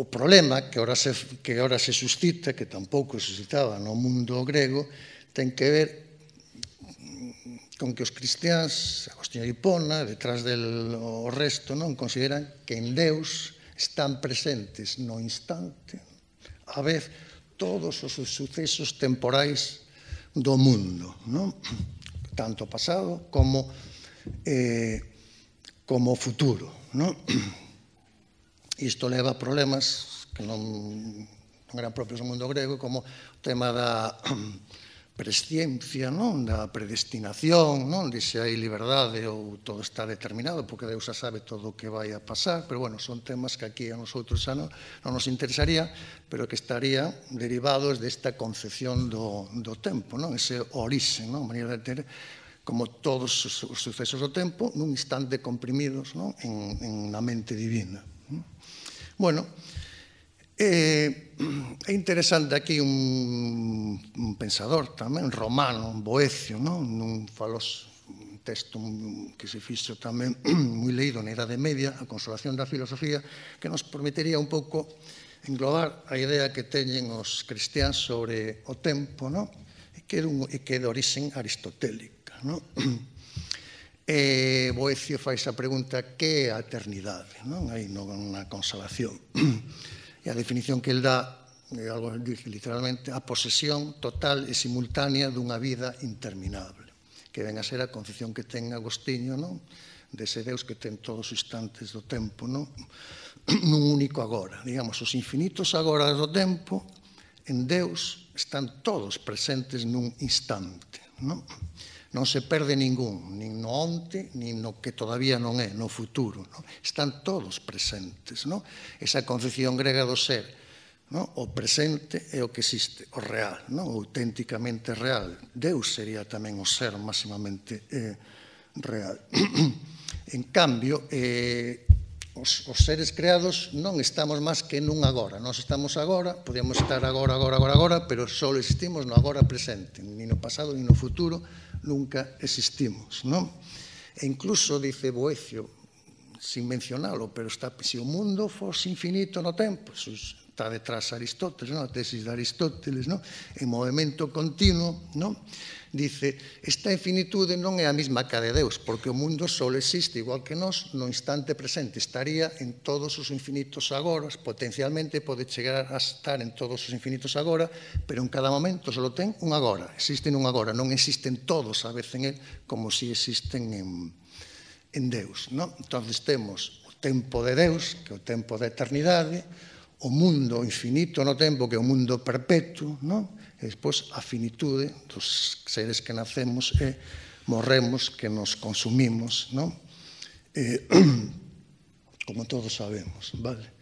Speaker 2: o problema que ora se suscita, que tampouco se suscitaba no mundo grego, ten que ver con que os cristiáns, Agostinho de Hipona, detrás o resto, non consideran que en Deus están presentes no instante, a vez, todos os sucesos temporais do mundo, non? Tanto pasado como futuro, non? Isto leva a problemas que non eran propios do mundo grego, como o tema da presciencia, non? Da predestinación, non? De se hai liberdade ou todo está determinado, porque Deus xa sabe todo o que vai a pasar, pero, bueno, son temas que aquí a nosotros xa non nos interesaría, pero que estarían derivados desta concepción do tempo, non? Ese orixe, non? A maneira de ter como todos os sucesos do tempo nun instante comprimidos, non? En na mente divina. Bueno, é interesante aquí un pensador tamén romano, un Boecio, nun texto que se fixo tamén moi leído na Idade Media, A Consolación da Filosofía, que nos permitiría un pouco englobar a idea que teñen os cristiáns sobre o tempo, e que é de orixen aristotélica. Boecio fai esa pregunta: que é a eternidade? Aí na Consolación. E a definición que el dá, literalmente, a posesión total e simultánea dunha vida interminable, que ven a ser a concepción que ten Agostinho, dese Deus que ten todos os instantes do tempo, nun único agora. Digamos, os infinitos agora do tempo, en Deus, están todos presentes nun instante, non se perde ningún, nin no onte, nin no que todavía non é, no futuro. Están todos presentes. Esa concepción grega do ser, o presente é o que existe, o real, o auténticamente real. Deus sería tamén o ser máximamente real. En cambio, os seres creados non estamos máis que nun agora. Nós estamos agora, podemos estar agora, pero só existimos no agora presente, ni no pasado, ni no futuro, nunca existimos, non? E incluso, dice Boecio, sin mencionalo, pero se o mundo fose infinito no tempo, está detrás Aristóteles, a tesis de Aristóteles, en movimento continuo, dice, esta infinitude non é a mesma que a de Deus, porque o mundo só existe, igual que nós, no instante presente, estaría en todos os infinitos agoras, potencialmente pode chegar a estar en todos os infinitos agora, pero en cada momento só ten un agora, existe un agora, non existen todos a vez en él, como si existen en Deus. Entón, temos o tempo de Deus, que é o tempo da eternidade, o mundo infinito no tempo, que é o mundo perpetuo, non? E despois a finitude dos seres que nacemos e morremos, que nos consumimos, non? Como todos sabemos, vale?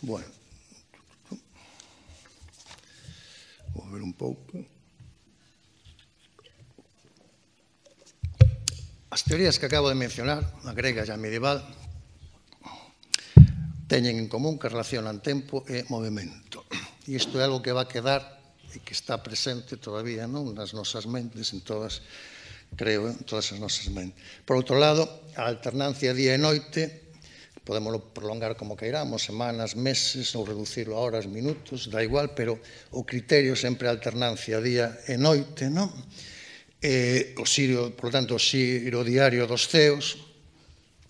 Speaker 2: Bueno, vou ver un pouco. As teorías que acabo de mencionar, a grega e a medieval, teñen en común que relacionan tempo e movimento. E isto é algo que va a quedar e que está presente todavía nas nosas mentes, en todas, creo, en todas as nosas mentes. Por outro lado, a alternancia día e noite, podemos prolongar como queiramos, semanas, meses, ou reducirlo a horas, minutos, da igual, pero o criterio sempre é a alternancia día e noite, non? O xiro, por tanto, o xiro diario dos ceos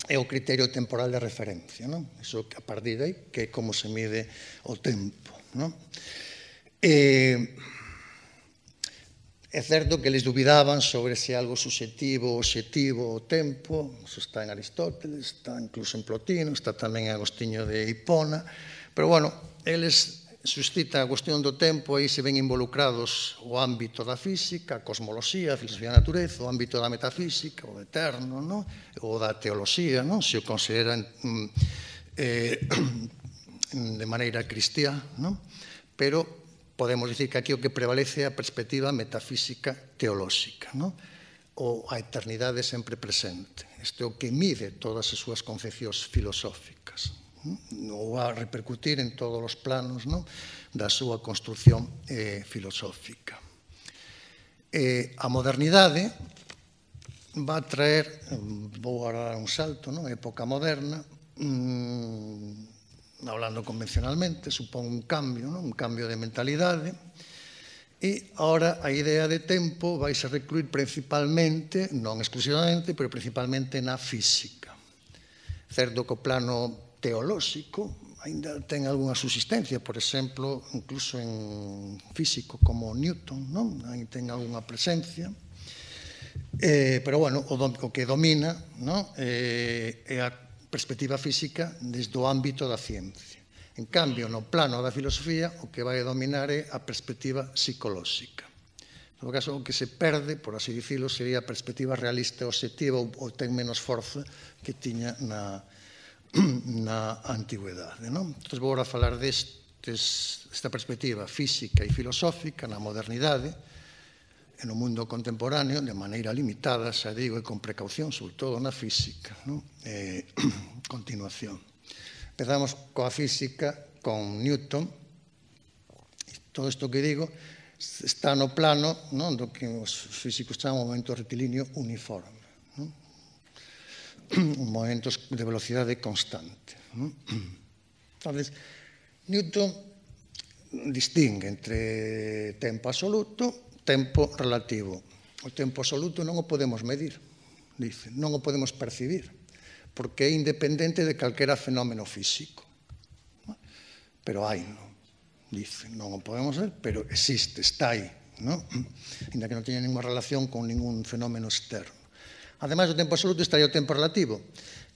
Speaker 2: é o criterio temporal de referencia, non? Iso a partir de aí, que é como se mide o tempo, non? É certo que eles dubidaban sobre se algo subxetivo ou obxectivo o tempo, iso está en Aristóteles, está incluso en Plotino, está tamén en Agostinho de Hipona, pero, bueno, eles suscitan a cuestión do tempo, aí se ven involucrados o ámbito da física, a cosmoloxía, a filosofía da natureza, o ámbito da metafísica, o eterno, non? O da teoloxía, non? Se o consideran de maneira cristiá, non? Pero podemos dicir que aquí o que prevalece é a perspectiva metafísica teolóxica, non? O a eternidade sempre presente. Isto é o que mide todas as súas concepcións filosóficas, ou a repercutir en todos os planos da súa construcción filosófica. A modernidade va a traer, vou agora dar un salto, a época moderna, hablando convencionalmente, supón un cambio de mentalidade, e agora a idea de tempo vai a recluir principalmente, non exclusivamente, pero principalmente na física. Certo que o plano teolóxico ainda ten algunha subsistencia, por exemplo, incluso en físico como Newton, non? Aí ten algunha presencia, pero, bueno, o que domina é a perspectiva física desde o ámbito da ciencia. En cambio, no plano da filosofía, o que vai dominar é a perspectiva psicolóxica. No caso, o que se perde, por así dicilo, sería a perspectiva realista e obxectiva, ou ten menos forza que tiña na antigüedade. Entón, vou agora falar desta perspectiva física e filosófica na modernidade e no mundo contemporáneo, de maneira limitada, xa digo, e con precaución, sobre todo na física. Continuación. Empezamos coa física, con Newton. Todo isto que digo está no plano do que os físicos chaman o movimento rectilíneo uniforme. Movimentos de velocidade constante. Entonces, Newton distingue entre tempo absoluto e tempo relativo. O tempo absoluto non o podemos medir, dice, non o podemos percibir, porque é independente de calquera fenómeno físico. Pero hai, dice, non o podemos ver, pero existe, está aí, ainda que non teña ninguna relación con ningún fenómeno externo. Ademais do tempo absoluto estaría o tempo relativo,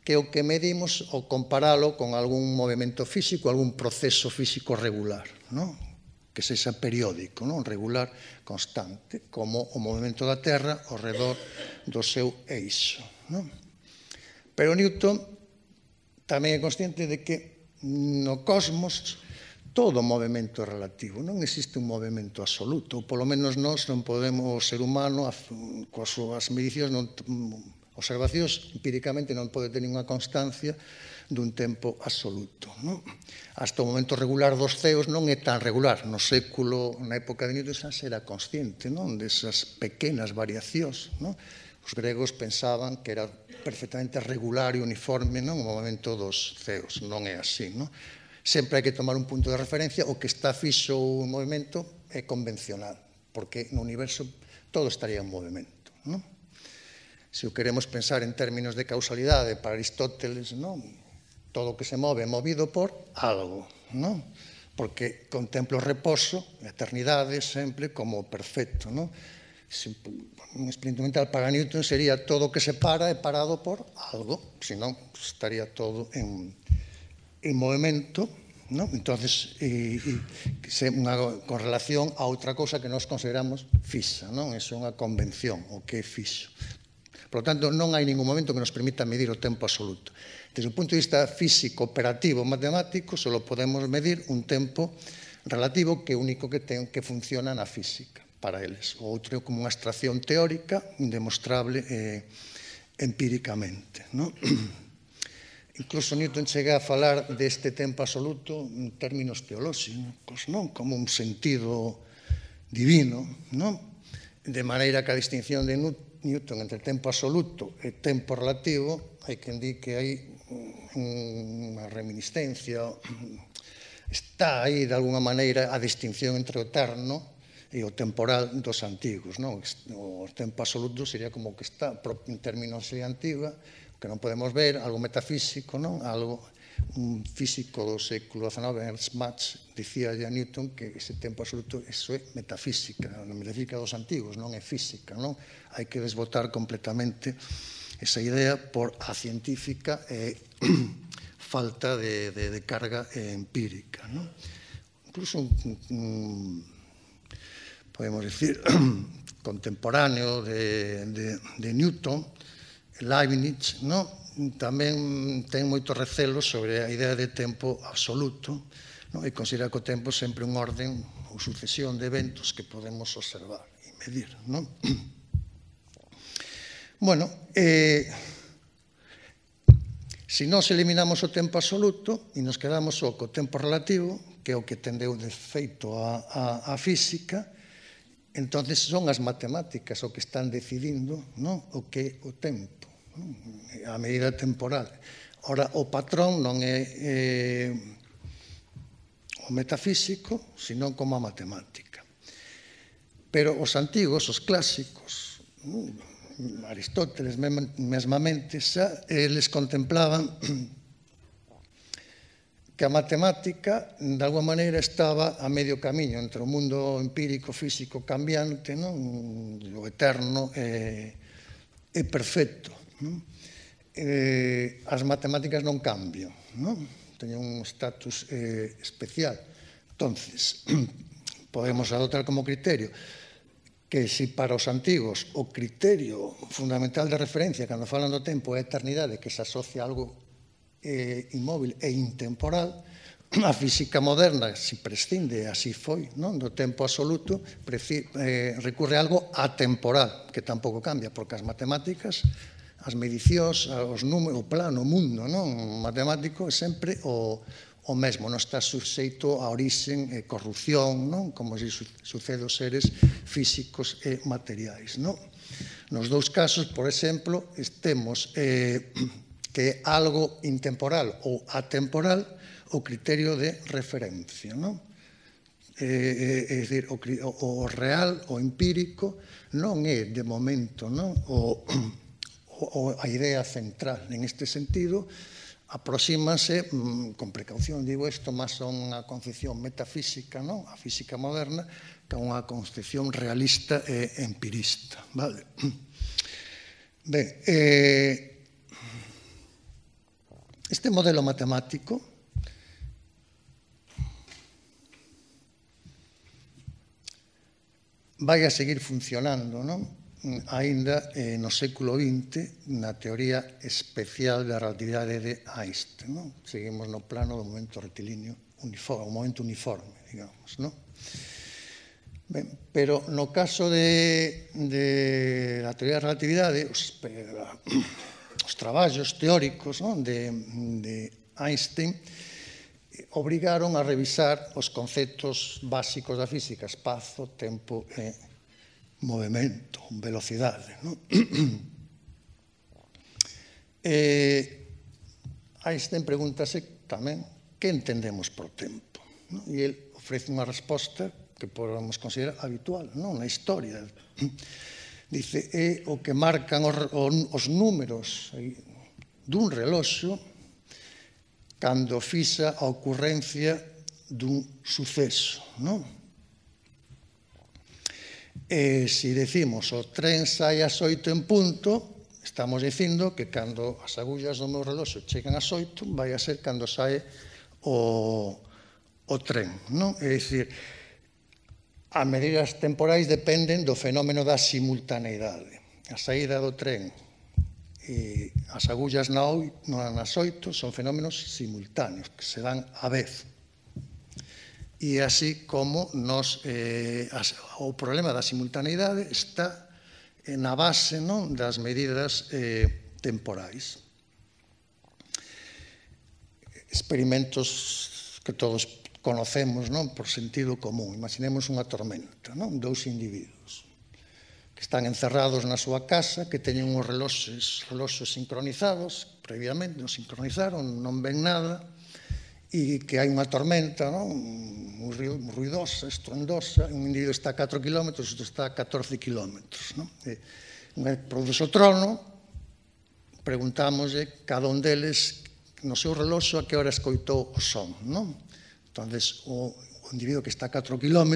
Speaker 2: que é o que medimos ao comparalo con algún movimento físico, algún proceso físico regular, que sexa periódico, regular, constante, como o movimento da Terra ao redor do seu eixo. Pero Newton tamén é consciente de que no cosmos todo movimento é relativo, non existe un movimento absoluto, ou polo menos nós non podemos, o ser humano, coas súas medicións, observacións, empíricamente non pode ter ninguna constancia dun tempo absoluto. Hasta o momento regular dos ceos non é tan regular. No século, na época de Newton, xa era consciente desas pequenas variacións. Os gregos pensaban que era perfectamente regular e uniforme o movimento dos ceos. Non é así, sempre hai que tomar un punto de referencia, o que está fixo o movimento é convencional, porque no universo todo estaría en movimento. Se o queremos pensar en términos de causalidade, para Aristóteles, todo o que se move é movido por algo, porque contempla o reposo, a eternidade sempre como perfecto. Un experimento mental para Newton sería todo o que se para é parado por algo, senón estaría todo en movimento, ¿no? Entonces, con relación a outra cousa que nós consideramos fixa, non? É unha convención, o que é fixo. Por lo tanto, non hai ningún momento que nos permita medir o tempo absoluto. Desde o punto de vista físico, operativo, matemático, só podemos medir un tempo relativo que é o único que funciona na física para eles. O outro é como unha abstracción teórica indemostrable empíricamente, non? Incluso Newton chega a falar deste tempo absoluto en términos teolóxicos, non? Como un sentido divino, non? De maneira que a distinción de Newton entre tempo absoluto e tempo relativo, hai quen di que hai unha reminiscencia, está aí de alguna maneira a distinción entre o eterno e o temporal dos antigos, non? O tempo absoluto sería como que está, en términos de antiga, que non podemos ver, algo metafísico, non? Algo, un físico do século XIX, Ernst Mach, dicía a Newton que ese tempo absoluto, eso é metafísica, a metafísica dos antigos, non é física, non? Hai que desbotar completamente esa idea por a científica falta de carga empírica, non? Incluso podemos decir, contemporáneo de Newton, Leibniz, tamén ten moitos recelos sobre a idea de tempo absoluto e considera que o tempo é sempre un orden ou sucesión de eventos que podemos observar e medir. Bueno, se nós eliminamos o tempo absoluto e nos quedamos só co tempo relativo, que é o que tendeu de feito a física, entonces son as matemáticas o que están decidindo o que é o tempo, a medida temporal. Ora, o patrón non é o metafísico, senón como a matemática. Pero os antigos, os clásicos, Aristóteles mesmamente, xa eles contemplaban que a matemática, de alguma maneira, estaba a medio camiño entre o mundo empírico, físico, cambiante, o eterno e perfecto. As matemáticas non cambian, teñen un estatus especial. Entonces, podemos adoptar como criterio que se para os antigos o criterio fundamental de referencia cando falan do tempo é a eternidade, que se asocia a algo inmóvil e intemporal, a física moderna se prescinde, así foi, do tempo absoluto, recurre a algo atemporal, que tampouco cambia, porque as matemáticas, as medicións, os números, o plano, o mundo matemático é sempre o mesmo, non está suxeito a orixen e corrupción, como se sucede aos seres físicos e materiais. Nos dous casos, por exemplo, temos que é algo intemporal ou atemporal o criterio de referencia. É dicir, o real, o empírico, non é, de momento, a idea central. En este sentido, aproxímase, con precaución, digo isto, máis a unha concepción metafísica, a física moderna, que a unha concepción realista e empirista. Ben, este modelo matemático vai a seguir funcionando, aínda no século XX, na teoría especial da relatividade de Einstein. Seguimos no plano do momento rectilíneo uniforme, o momento uniforme, digamos. Ben, pero no caso da teoría da relatividade, os traballos teóricos de Einstein obrigaron a revisar os conceptos básicos da física, espazo, tempo e movimento, velocidade. Einstein pregúntase tamén que entendemos por tempo. E ele ofrece unha resposta que podemos considerar habitual na historia. Dice, é o que marcan os números dun reloxo cando fixa a ocurrencia dun suceso. Se decimos o tren sai ás 8 en punto, estamos dicindo que cando as agullas do meu reloxo chegan ás 8, vai a ser cando sae o tren, non? É dicir, as medidas temporais dependen do fenómeno da simultaneidade. A saída do tren e as agullas nas 8 son fenómenos simultáneos, que se dan á vez. E así como o problema da simultaneidade está na base das medidas temporais. Experimentos que todos conocemos por sentido común. Imaginemos unha tormenta, dous individuos que están encerrados na súa casa, que teñen uns reloxos sincronizados, previamente os sincronizaron, non ven nada, e que hai unha tormenta moi ruidosa, estruendosa, un individuo está a 4 km, outro está a 14 km. Produce o trono, preguntámoslle cada un deles no seu reloxo a que hora escoitou o son. Entón, o individuo que está a 4 km,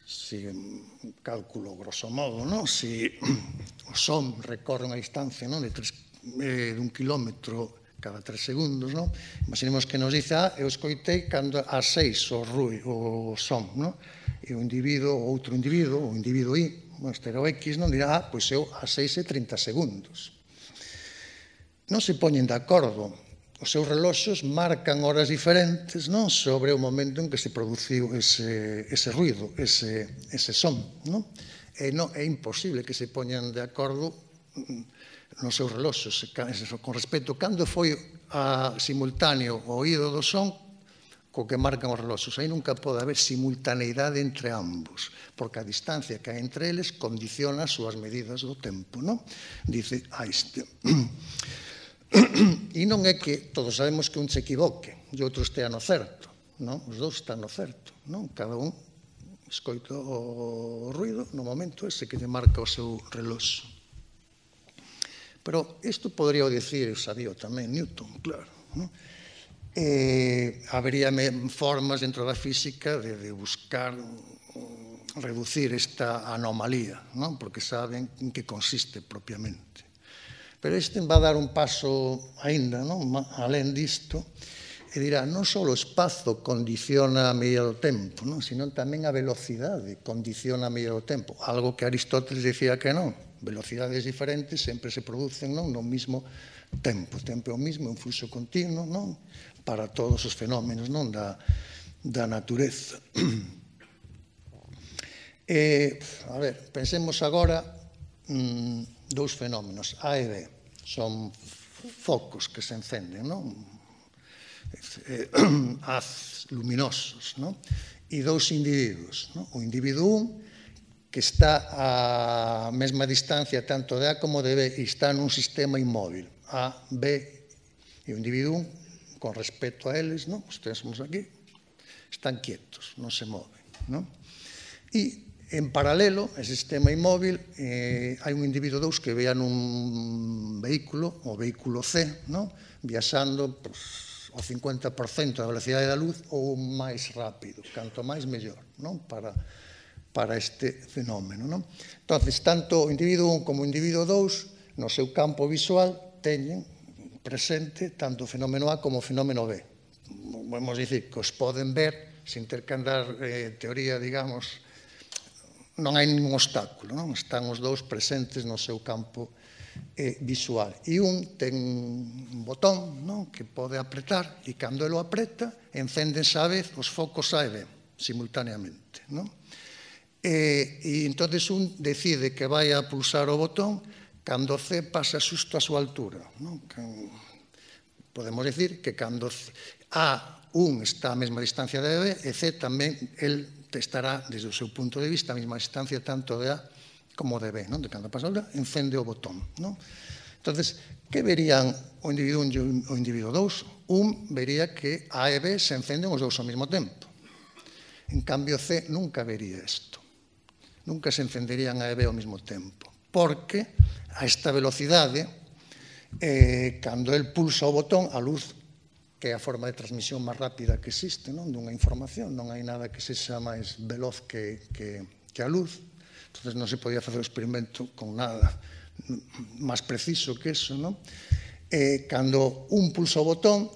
Speaker 2: se cálculo grosso modo, se o son recorre unha distancia de 1 kilómetro cada 3 segundos, imaginemos que nos dice, eu escoitei cando ás 6 o son, e o outro individuo, o individuo I, este era o X, dirá, pois eu ás 6 e 30 segundos. Non se poñen de acordo, os seus reloxos marcan horas diferentes sobre o momento en que se produciu ese ruido, ese son. É imposible que se poñan de acordo nos seus reloxos, con respecto a cando foi simultáneo o oído do son co que marcan os reloxos. Aí nunca pode haber simultaneidade entre ambos, porque a distancia que hai entre eles condiciona as súas medidas do tempo, dice Einstein. E non é que todos sabemos que un se equivoque e outro estea no certo, os dous están no certo, cada un escoita o ruido no momento ese que lle marca o seu reloxo. Pero isto podría dicir, sabía tamén Newton, claro. Habería formas dentro da física de buscar reducir esta anomalía, porque saben en que consiste propiamente. Pero este va a dar un paso aínda, alén disto, e dirá, non só o espazo condiciona a medida do tempo, sino tamén a velocidade condiciona a medida do tempo, algo que Aristóteles dicía que non. Velocidades diferentes sempre se producen no mesmo tempo. O tempo é o mesmo, é un fluxo continuo para todos os fenómenos da natureza. A ver, pensemos agora dous fenómenos, A e B. Son focos que se encenden, haz luminosos, e dous individuos. O individuo 1 que está a mesma distancia tanto de A como de B e está nun sistema inmóvil, A, B e o individuo con respecto a eles, os temos aquí, están quietos, non se moven. E en paralelo, ese sistema inmóvil, hai un individuo 2 que vea nun vehículo, o vehículo C, viaxando ao 50% da velocidade da luz ou máis rápido, canto máis mellor, para este fenómeno. Entón, tanto o individuo 1 como o individuo 2 no seu campo visual teñen presente tanto o fenómeno A como o fenómeno B. Podemos dicir que os poden ver sin ter que andar teoría, digamos, non hai ningún obstáculo, están os dous presentes no seu campo visual. E un ten un botón que pode apretar e cando ele o apreta encéndense á vez os focos A e B simultaneamente. E entón un decide que vai a pulsar o botón cando C pasa xusto a súa altura. Podemos dicir que cando A1 está a mesma distancia de B e C tamén estará, desde o seu punto de vista, a mesma distancia tanto de A como de B. De cando pasa a altura, encende o botón. Entón, que verían o individuo 1 e o individuo 2? Un vería que A e B se encenden os dous ao mesmo tempo. En cambio, C nunca vería isto. Nunca se encenderían A e B ao mesmo tempo, porque a esta velocidade, cando el pulsa o botón, a luz, que é a forma de transmisión máis rápida que existe dunha información, non hai nada que sexa máis veloz que que a luz. Entonces non se podía facer o experimento con nada máis preciso que eso, non? Cando un pulsa o botón,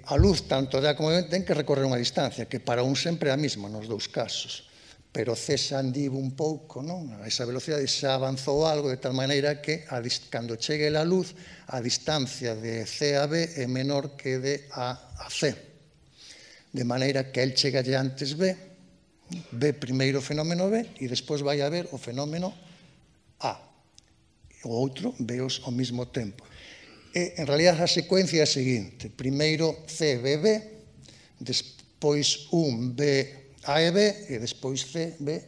Speaker 2: a luz, tanto dá como ten que recorrer unha distancia, que para un sempre é a mesma nos dous casos. Pero C xa andivo un pouco, non? A esa velocidade xa avanzou algo de tal maneira que cando chegue a luz, a distancia de C a B é menor que de A a C. De maneira que el chega antes B, ve primeiro o fenómeno B e despois vai a ver o fenómeno A. O outro veos ao mesmo tempo. En realidad a secuencia é a seguinte: primeiro C ve B, despois un ve A e B, e despois C, B,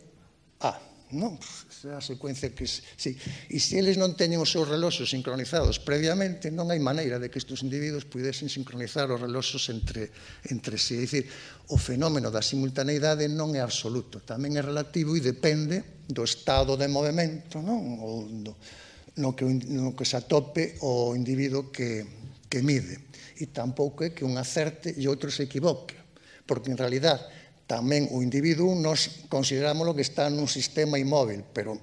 Speaker 2: A. Non? Esa é a secuencia que... Sí. E se eles non teñen os seus reloxos sincronizados previamente, non hai maneira de que estes individuos pudesen sincronizar os reloxos entre sí. É dicir, o fenómeno da simultaneidade non é absoluto, tamén é relativo e depende do estado de movimento, non? Ou no que se atope o individuo que mide. E tampouco é que un acerte e outro se equivoque, porque en realidad tamén o individuo nos consideramos que está nun sistema inmóvil, pero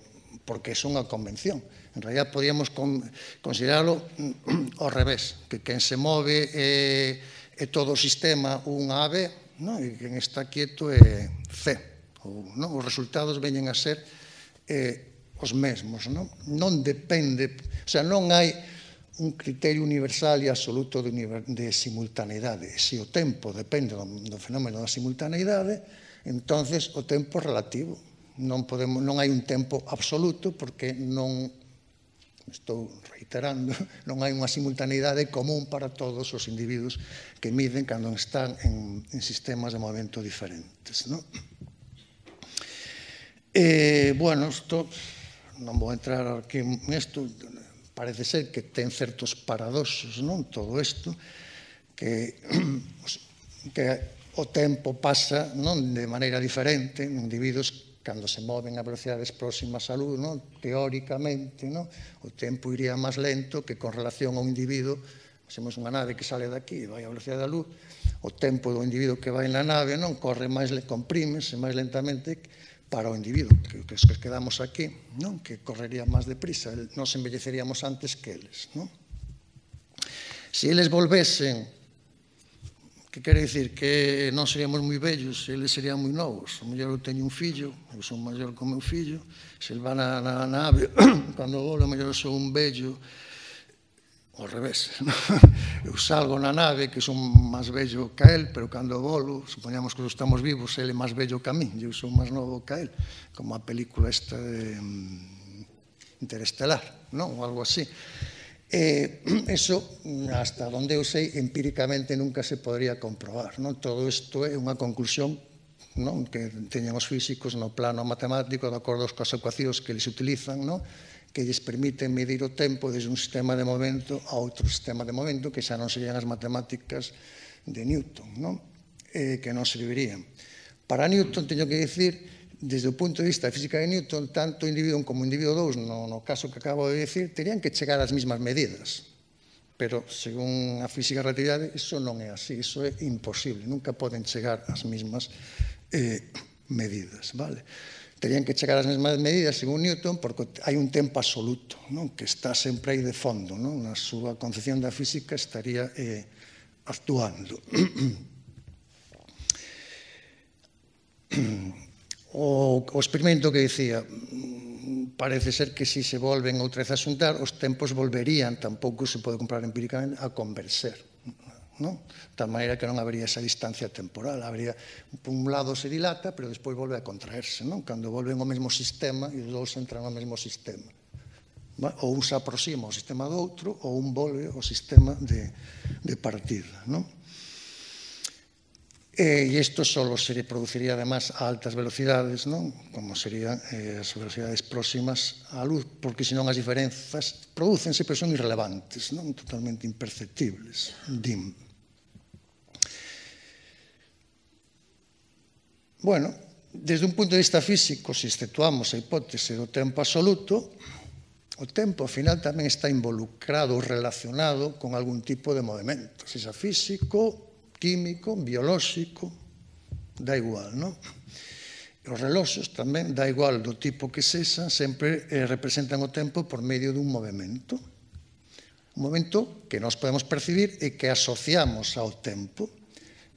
Speaker 2: porque é unha convención. En realidad podíamos considerarlo ao revés, que quen se move é todo o sistema un A, B, e quen está quieto é C. Os resultados veñen a ser os mesmos. Non depende, o sea, non hai un criterio universal e absoluto de simultaneidade. Se o tempo depende do fenómeno da simultaneidade, entonces o tempo é relativo. Non hai un tempo absoluto porque non, estou reiterando, non hai unha simultaneidade común para todos os individuos que miden cando están en sistemas de movimento diferentes. Bueno, isto non vou entrar aquí nisto. Parece ser que ten certos paradoxos, non? Todo isto, que o tempo pasa de maneira diferente en individuos cando se moven a velocidades próximas á luz, teóricamente, o tempo iría máis lento que con relación a un individuo. Temos unha nave que sale daqui e vai a velocidade da luz, o tempo do individuo que vai na nave corre máis, comprímese máis lentamente para o individuo, que quedamos aquí, que correría máis deprisa, nos envelleceríamos antes que eles. Se eles volvesen, que quere dicir que non seríamos moi vellos, eles serían moi novos. O mellor eu teño un fillo, eu son maior que o meu fillo, se ele va na nave, cando volo, o mellor eu sou un vello, ao revés. Eu salgo na nave, que son máis vello que el, pero cando volo, supoñamos que estamos vivos, ele é máis vello que a mí, eu sou máis novo que el, como a película esta de Interestelar, ou algo así. Eso, hasta onde eu sei, empíricamente nunca se podría comprobar. Todo isto é unha conclusión que teñen os físicos no plano matemático, de acordo coas ecuacións que eles utilizan, que lles permiten medir o tempo desde un sistema de momento a outro sistema de momento, que xa non serían as matemáticas de Newton, que non servirían. Para Newton, teño que dicir, desde o punto de vista da física de Newton, tanto o individuo como o individuo 2, no caso que acabo de dicir, terían que chegar ás mesmas medidas. Pero, según a física da relatividade, iso non é así, iso é imposible, nunca poden chegar ás mesmas medidas, vale? Terían que chegar ás mesmas medidas, según Newton, porque hai un tempo absoluto, que está sempre aí de fondo, na súa concepción da física estaría actuando. O experimento que dicía, parece ser que se se volven outra vez a xuntar, os tempos volverían, tampouco se pode comprobar empíricamente, a converser. De tal maneira que non habería esa distancia temporal. Por un lado se dilata, pero despois volve a contraerse. Cando volven ao mesmo sistema, e os dous entran ao mesmo sistema. Ou un se aproxima ao sistema do outro, ou un volve ao sistema de partida. E isto só se produciría, además, a altas velocidades, como serían as velocidades próximas á luz, porque senón as diferenzas prodúcense, pero son irrelevantes, totalmente imperceptibles. Bueno, desde un punto de vista físico, se exceptuamos a hipótese do tempo absoluto, o tempo, ao final, tamén está involucrado ou relacionado con algún tipo de movimento, sexa físico, químico, biolóxico, da igual, non? Os reloxos tamén, dá igual do tipo que sexan, sempre representan o tempo por medio dun movimento. Un movimento que nós podemos percibir e que asociamos ao tempo.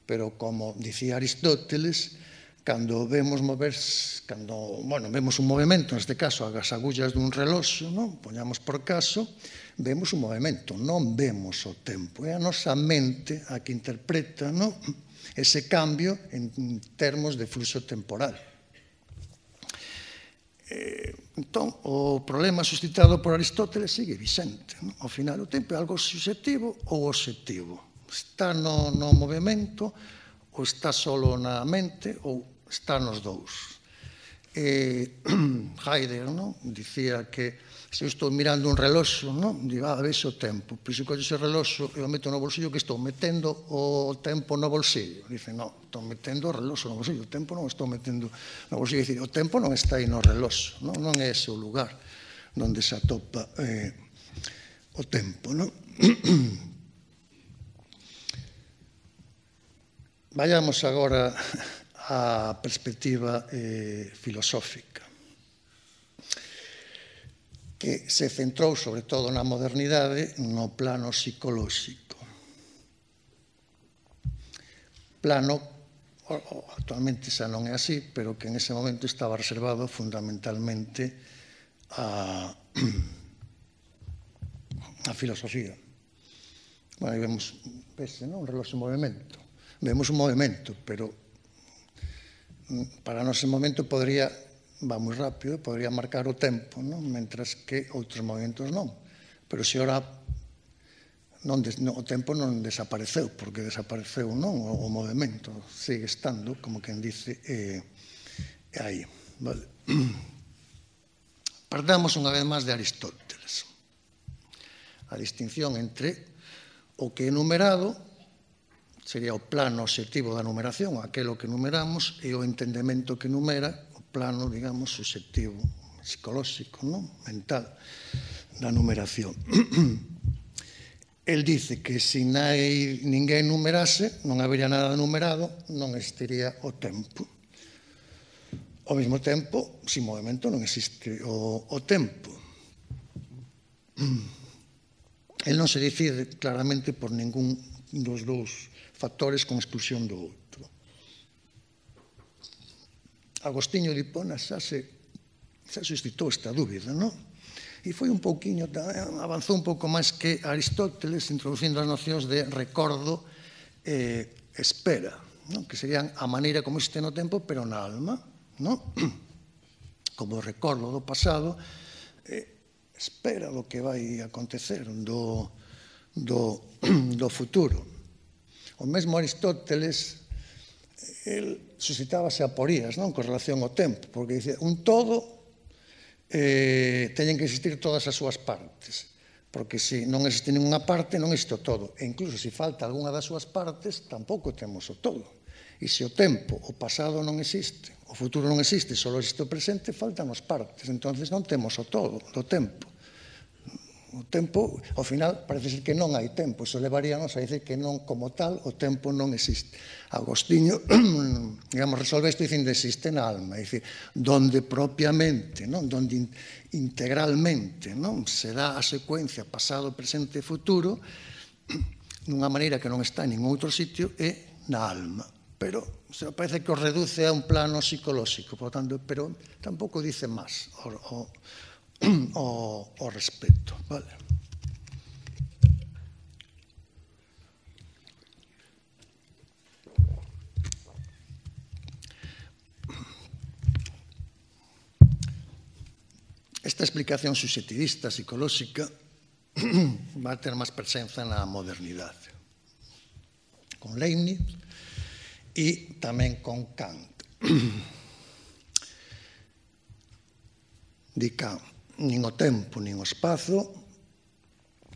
Speaker 2: Pero, como dicía Aristóteles, cando vemos vemos un movimento, neste caso, as agullas dun reloxo, poñamos por caso, vemos un movimento, non vemos o tempo. É a nosa mente a que interpreta ese cambio en termos de fluxo temporal. Entón, o problema suscitado por Aristóteles sigue vixente. Ao final, o tempo é algo subxectivo ou obxectivo. Está no movimento, ou está solo na mente, ou está nos dous. Heidegger dicía que se eu estou mirando un reloxo, digo, vexo o tempo. Pois se collo ese reloxo e o meto no bolsillo, que estou metendo o tempo no bolsillo. Dice, non, estou metendo o reloxo no bolsillo, o tempo non estou metendo no bolsillo. Dicir, o tempo non está aí no reloxo, non é ese o lugar onde se atopa o tempo. Vayamos agora á perspectiva filosófica, que se centrou, sobre todo na modernidade, no plano psicolóxico. Plano, actualmente xa non é así, pero que en ese momento estaba reservado fundamentalmente a filosofía. Bueno, aí vemos, un reloxo en movimento. Vemos un movimento, pero para nós ese momento podría, va moi rápido, podría marcar o tempo, mentras que outros movimentos non. Pero se ora o tempo non desapareceu, porque desapareceu o movimento, sigue estando, como quen dice, aí. Partamos unha vez máis de Aristóteles. A distinción entre o que é numerado, sería o plano obxectivo da numeración, aquelo que numeramos, e o entendemento que numera, plano, digamos, subxectivo, psicolóxico, mental, da numeración. El dice que se ninguén numerase, non habería nada numerado, non existiría o tempo. Ao mesmo tempo, sin movimento non existe o tempo. El non se decide claramente por ningún dos dous factores con exclusión do outro. Agostinho de Hipona xa suscitou esta dúbida, E foi un pouquiño, avanzou un pouco máis que Aristóteles, introducindo as nocións de recordo e espera, que serían a maneira como existe no tempo, pero na alma, como recordo do pasado, espera do que vai acontecer, do futuro. O mesmo Aristóteles, el suscitábase aporías con relación ao tempo, porque dice, un todo teñen que existir todas as súas partes, porque se non existe ninguna parte, non existe o todo, e incluso se falta algunha das súas partes, tampouco temos o todo. E se o tempo, o pasado non existe, o futuro non existe, só existe o presente, faltan as partes, entonces non temos o todo do tempo. O tempo, ao final, parece ser que non hai tempo. Iso levaríanos a dicir que non, como tal, o tempo non existe. Agostinho, digamos, resolve isto dicindo existe na alma, é dicir, donde propiamente, donde integralmente se dá a secuencia pasado, presente e futuro, dunha maneira que non está en ningún outro sitio, é na alma. Pero parece que o reduce a un plano psicolóxico, por tanto, pero tampouco dice máis o respecto, vale? Esta explicación subxectivista psicolóxica va a ter máis presenza na modernidade, con Leibniz e tamén con Kant. Di Kant, nin o tempo, nin o espazo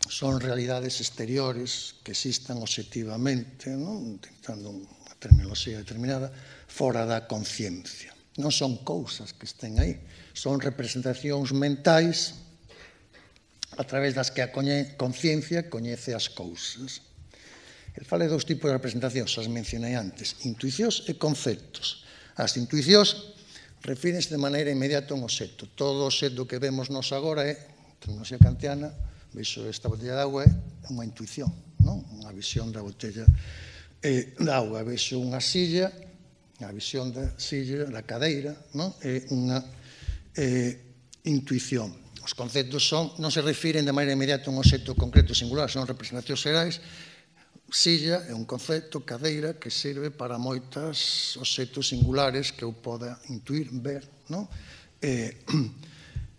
Speaker 2: son realidades exteriores que existan obxectivamente, utilizando unha terminoloxía determinada, fora da conciencia. Non son cousas que estén aí, son representacións mentais a través das que a conciencia coñece as cousas. El fala de dous tipos de representacións, as mencionei antes, intuicións e conceptos. As intuicións refírense de maneira inmediata a un obxecto. Todo obxecto que vemos nos agora é, tecnoloxía kantiana, vexo esta botella de agua, é unha intuición, unha visión da botella de agua. Vexo unha silla, a visión da silla, da cadeira, é unha intuición. Os conceptos non se refiren de maneira inmediata a un obxecto concreto singular, son representacións xerais. Silla é un concepto, cadeira, que serve para moitos obxectos singulares que eu poda intuir, ver,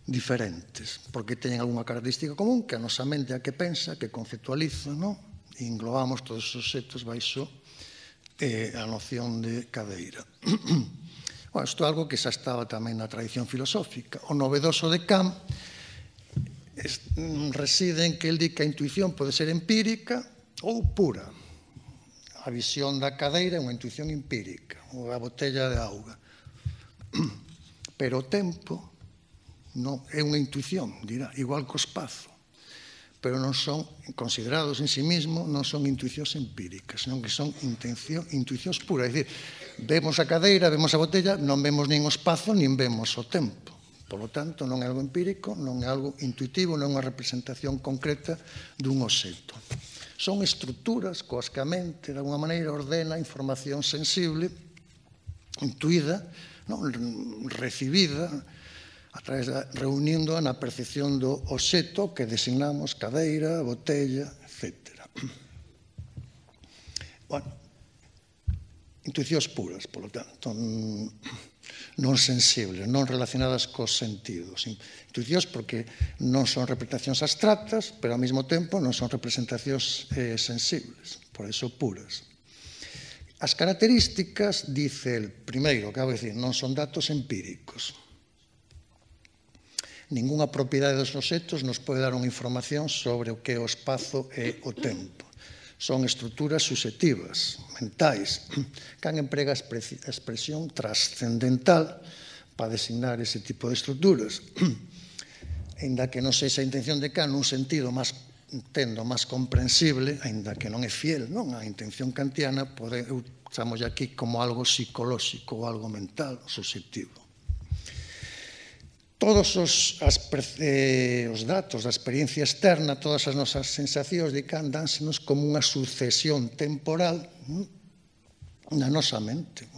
Speaker 2: diferentes, porque teñen algunha característica común que a nosa mente a que pensa, que conceptualiza, e englobamos todos os obxectos baixo a noción de cadeira. Bueno, isto é algo que xa estaba tamén na tradición filosófica. O novedoso de Kant reside en que el di que a intuición pode ser empírica ou pura. A visión da cadeira é unha intuición empírica, ou a botella de auga. Pero o tempo é unha intuición, dirá, igual que o espazo. Pero non son considerados en sí mesmo, non son intuicións empíricas, senón que son intuicións puras. É dicir, vemos a cadeira, vemos a botella, non vemos nin o espazo, nin vemos o tempo. Por lo tanto, non é algo empírico, non é algo intuitivo, non é unha representación concreta dun obxecto. Son estruturas coas que a mente, de alguma maneira, ordena información sensible, intuída, recibida, reunindo na percepción do obxecto que designamos cadeira, botella, etc. Bueno, intuicións puras, polo tanto, non sensibles, non relacionadas cos sentidos. Intuicións porque non son representacións abstractas, pero ao mesmo tempo non son representacións sensibles, por iso puras. As características, dice el primeiro, acabo de decir, non son datos empíricos. Ningunha propiedade dos obxectos nos pode dar unha información sobre o que é o espazo e o tempo. Son estruturas subjetivas, mentais. Kant emprega a expresión trascendental para designar ese tipo de estruturas. Ainda que non sexa a intención de Kant nun sentido máis comprensible, ainda que non é fiel, a intención kantiana, chamamos aquí como algo psicolóxico ou algo mental, subjetivo. Todos os datos da experiencia externa, todas as nosas sensacións de Kant dánsenos como unha sucesión temporal na nosa mente,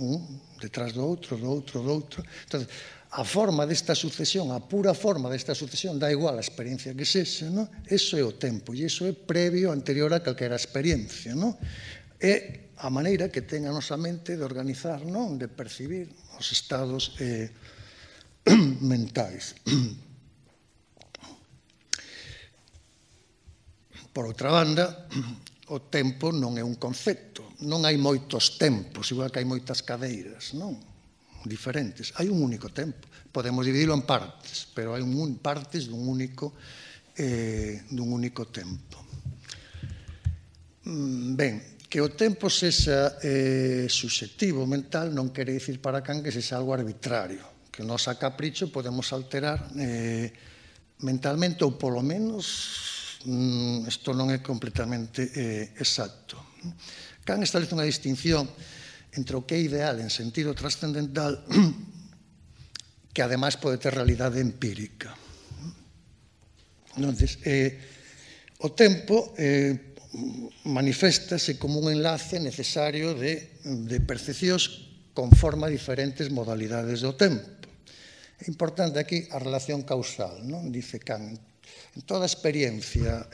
Speaker 2: detrás do outro, do outro, do outro. Entón, a forma desta sucesión, a pura forma desta sucesión, dá igual a experiencia que sexa, eso é o tempo, e iso é previo, anterior a calquera experiencia. É a maneira que ten a nosa mente de organizar, de percibir os estados mentais. Por outra banda, o tempo non é un concepto. Non hai moitos tempos, igual que hai moitas cadeiras, diferentes. Hai un único tempo. Podemos dividirlo en partes, pero hai partes dun único tempo. Ben, que o tempo sexa subxectivo, mental, non quere dicir para Kant que sexa algo arbitrario, que nós a capricho podemos alterar mentalmente, ou polo menos isto non é completamente exacto. Kant establece unha distinción entre o que é ideal en sentido trascendental que ademais pode ter realidade empírica. Entonces, o tempo maniféstase como un enlace necesario de percepcións conforme a diferentes modalidades do tempo. É importante aquí a relación causal, dice Kant. En toda experiencia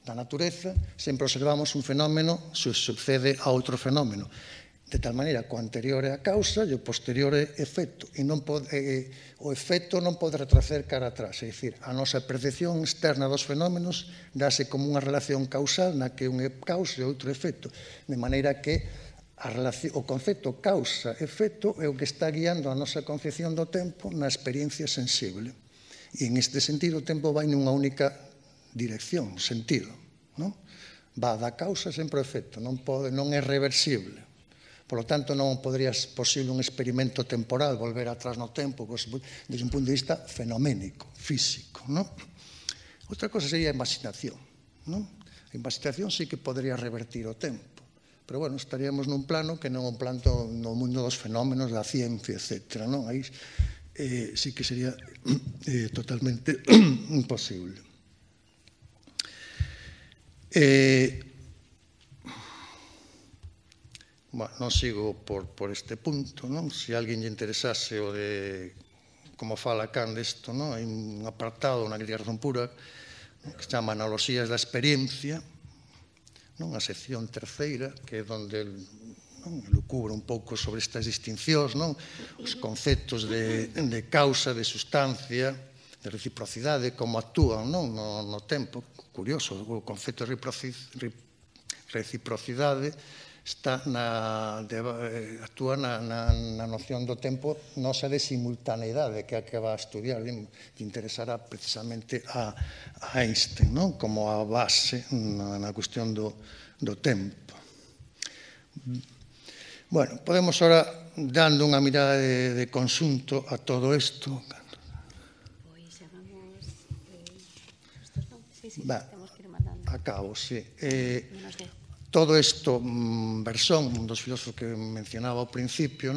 Speaker 2: da natureza sempre observamos un fenómeno se sucede a outro fenómeno. De tal maneira que o anterior é a causa e o posterior é efecto. E o efecto non pode retroceder cara atrás. É dicir, a nosa percepción externa dos fenómenos dáse como unha relación causal na que un é causa e outro efecto. De maneira que o concepto causa-efecto é o que está guiando a nosa concepción do tempo na experiencia sensible. E en este sentido o tempo vai nunha única dirección, sentido. Va da causa sempre ao efecto, non é reversible. Por lo tanto, non podería ser posible un experimento temporal, volver atrás no tempo, desde un punto de vista fenoménico, físico. Outra cosa sería a imaginación. A imaginación sí que podería revertir o tempo. Pero, bueno, estaríamos nun plano que non un plano no mundo dos fenómenos da ciencia, etc. Aí sí que sería totalmente imposible. Bueno, non sigo por este punto, non? Se alguén lle interesase o de como fala Kant desto, non? Hai un apartado na crítica razón pura que se chama Analogías da experiencia, non? A sección terceira, que é onde elucubra un pouco sobre estas distincións, non? Os conceptos de causa, de sustancia, de reciprocidade, como actúan no tempo. Curioso, o concepto de reciprocidade actúa na noción do tempo nosa de simultaneidade, que é a que va a estudiar, que interesará precisamente a Einstein, como a base na cuestión do tempo. Bueno, podemos ahora, dando unha mirada de conxunto a todo isto. Acabo, sí. Todo isto, Bersón, un dos filósofos que mencionaba ao principio,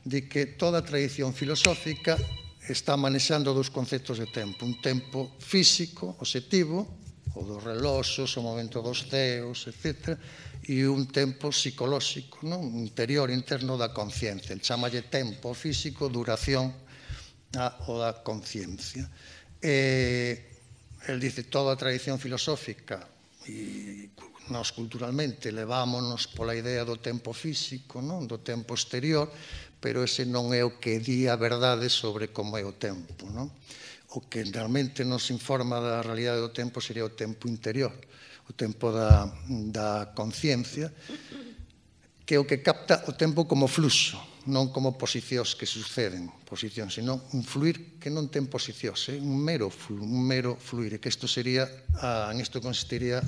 Speaker 2: di que toda a tradición filosófica está manexando dous conceptos de tempo. Un tempo físico, obxectivo, o dos reloxos, o momento dos ceos, etc., e un tempo psicolóxico, interior, interno da conciencia. El chamalle tempo físico, duración o da conciencia. El dice, toda a tradición filosófica, e nós culturalmente levámonos pola idea do tempo físico, do tempo exterior, pero ese non é o que di a verdade sobre como é o tempo. O que realmente nos informa da realidade do tempo sería o tempo interior, o tempo da conciencia, que é o que capta o tempo como fluxo, non como posicións que suceden, posicións, senón un fluir que non ten posicións, un mero fluir, que isto sería, en isto consistiría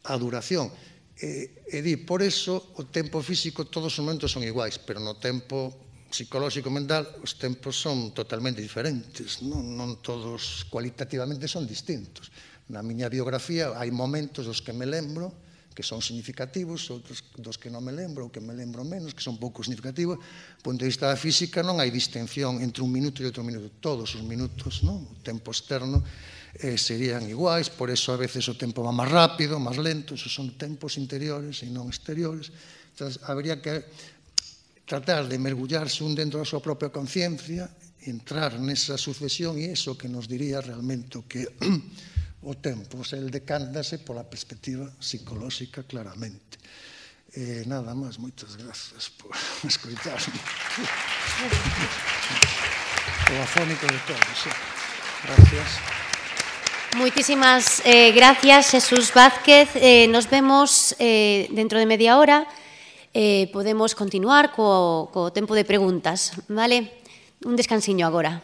Speaker 2: a duración. E di, por eso, o tempo físico, todos os momentos son iguais, pero no tempo psicolóxico mental, os tempos son totalmente diferentes, non todos cualitativamente son distintos. Na miña biografía hai momentos dos que me lembro, que son significativos, outros dos que non me lembro, ou que me lembro menos, que son pouco significativos. Do punto de vista da física non hai distinción entre un minuto e outro minuto. Todos os minutos, o tempo externo, serían iguais, por eso a veces o tempo va máis rápido, máis lento, esos son tempos interiores e non exteriores. Entón, habría que tratar de mergullarse un dentro da súa propia conciencia, entrar nesa sucesión, e iso que nos diría realmente o que o tempo, el decántase pola perspectiva psicolóxica claramente. Nada máis, moitas grazas por escoitarme. O afónico de todos. Gracias.
Speaker 1: Moitísimas gracias, Jesús Vázquez. Nos vemos dentro de media hora. Podemos continuar co tempo de preguntas, vale? Un descansiño agora.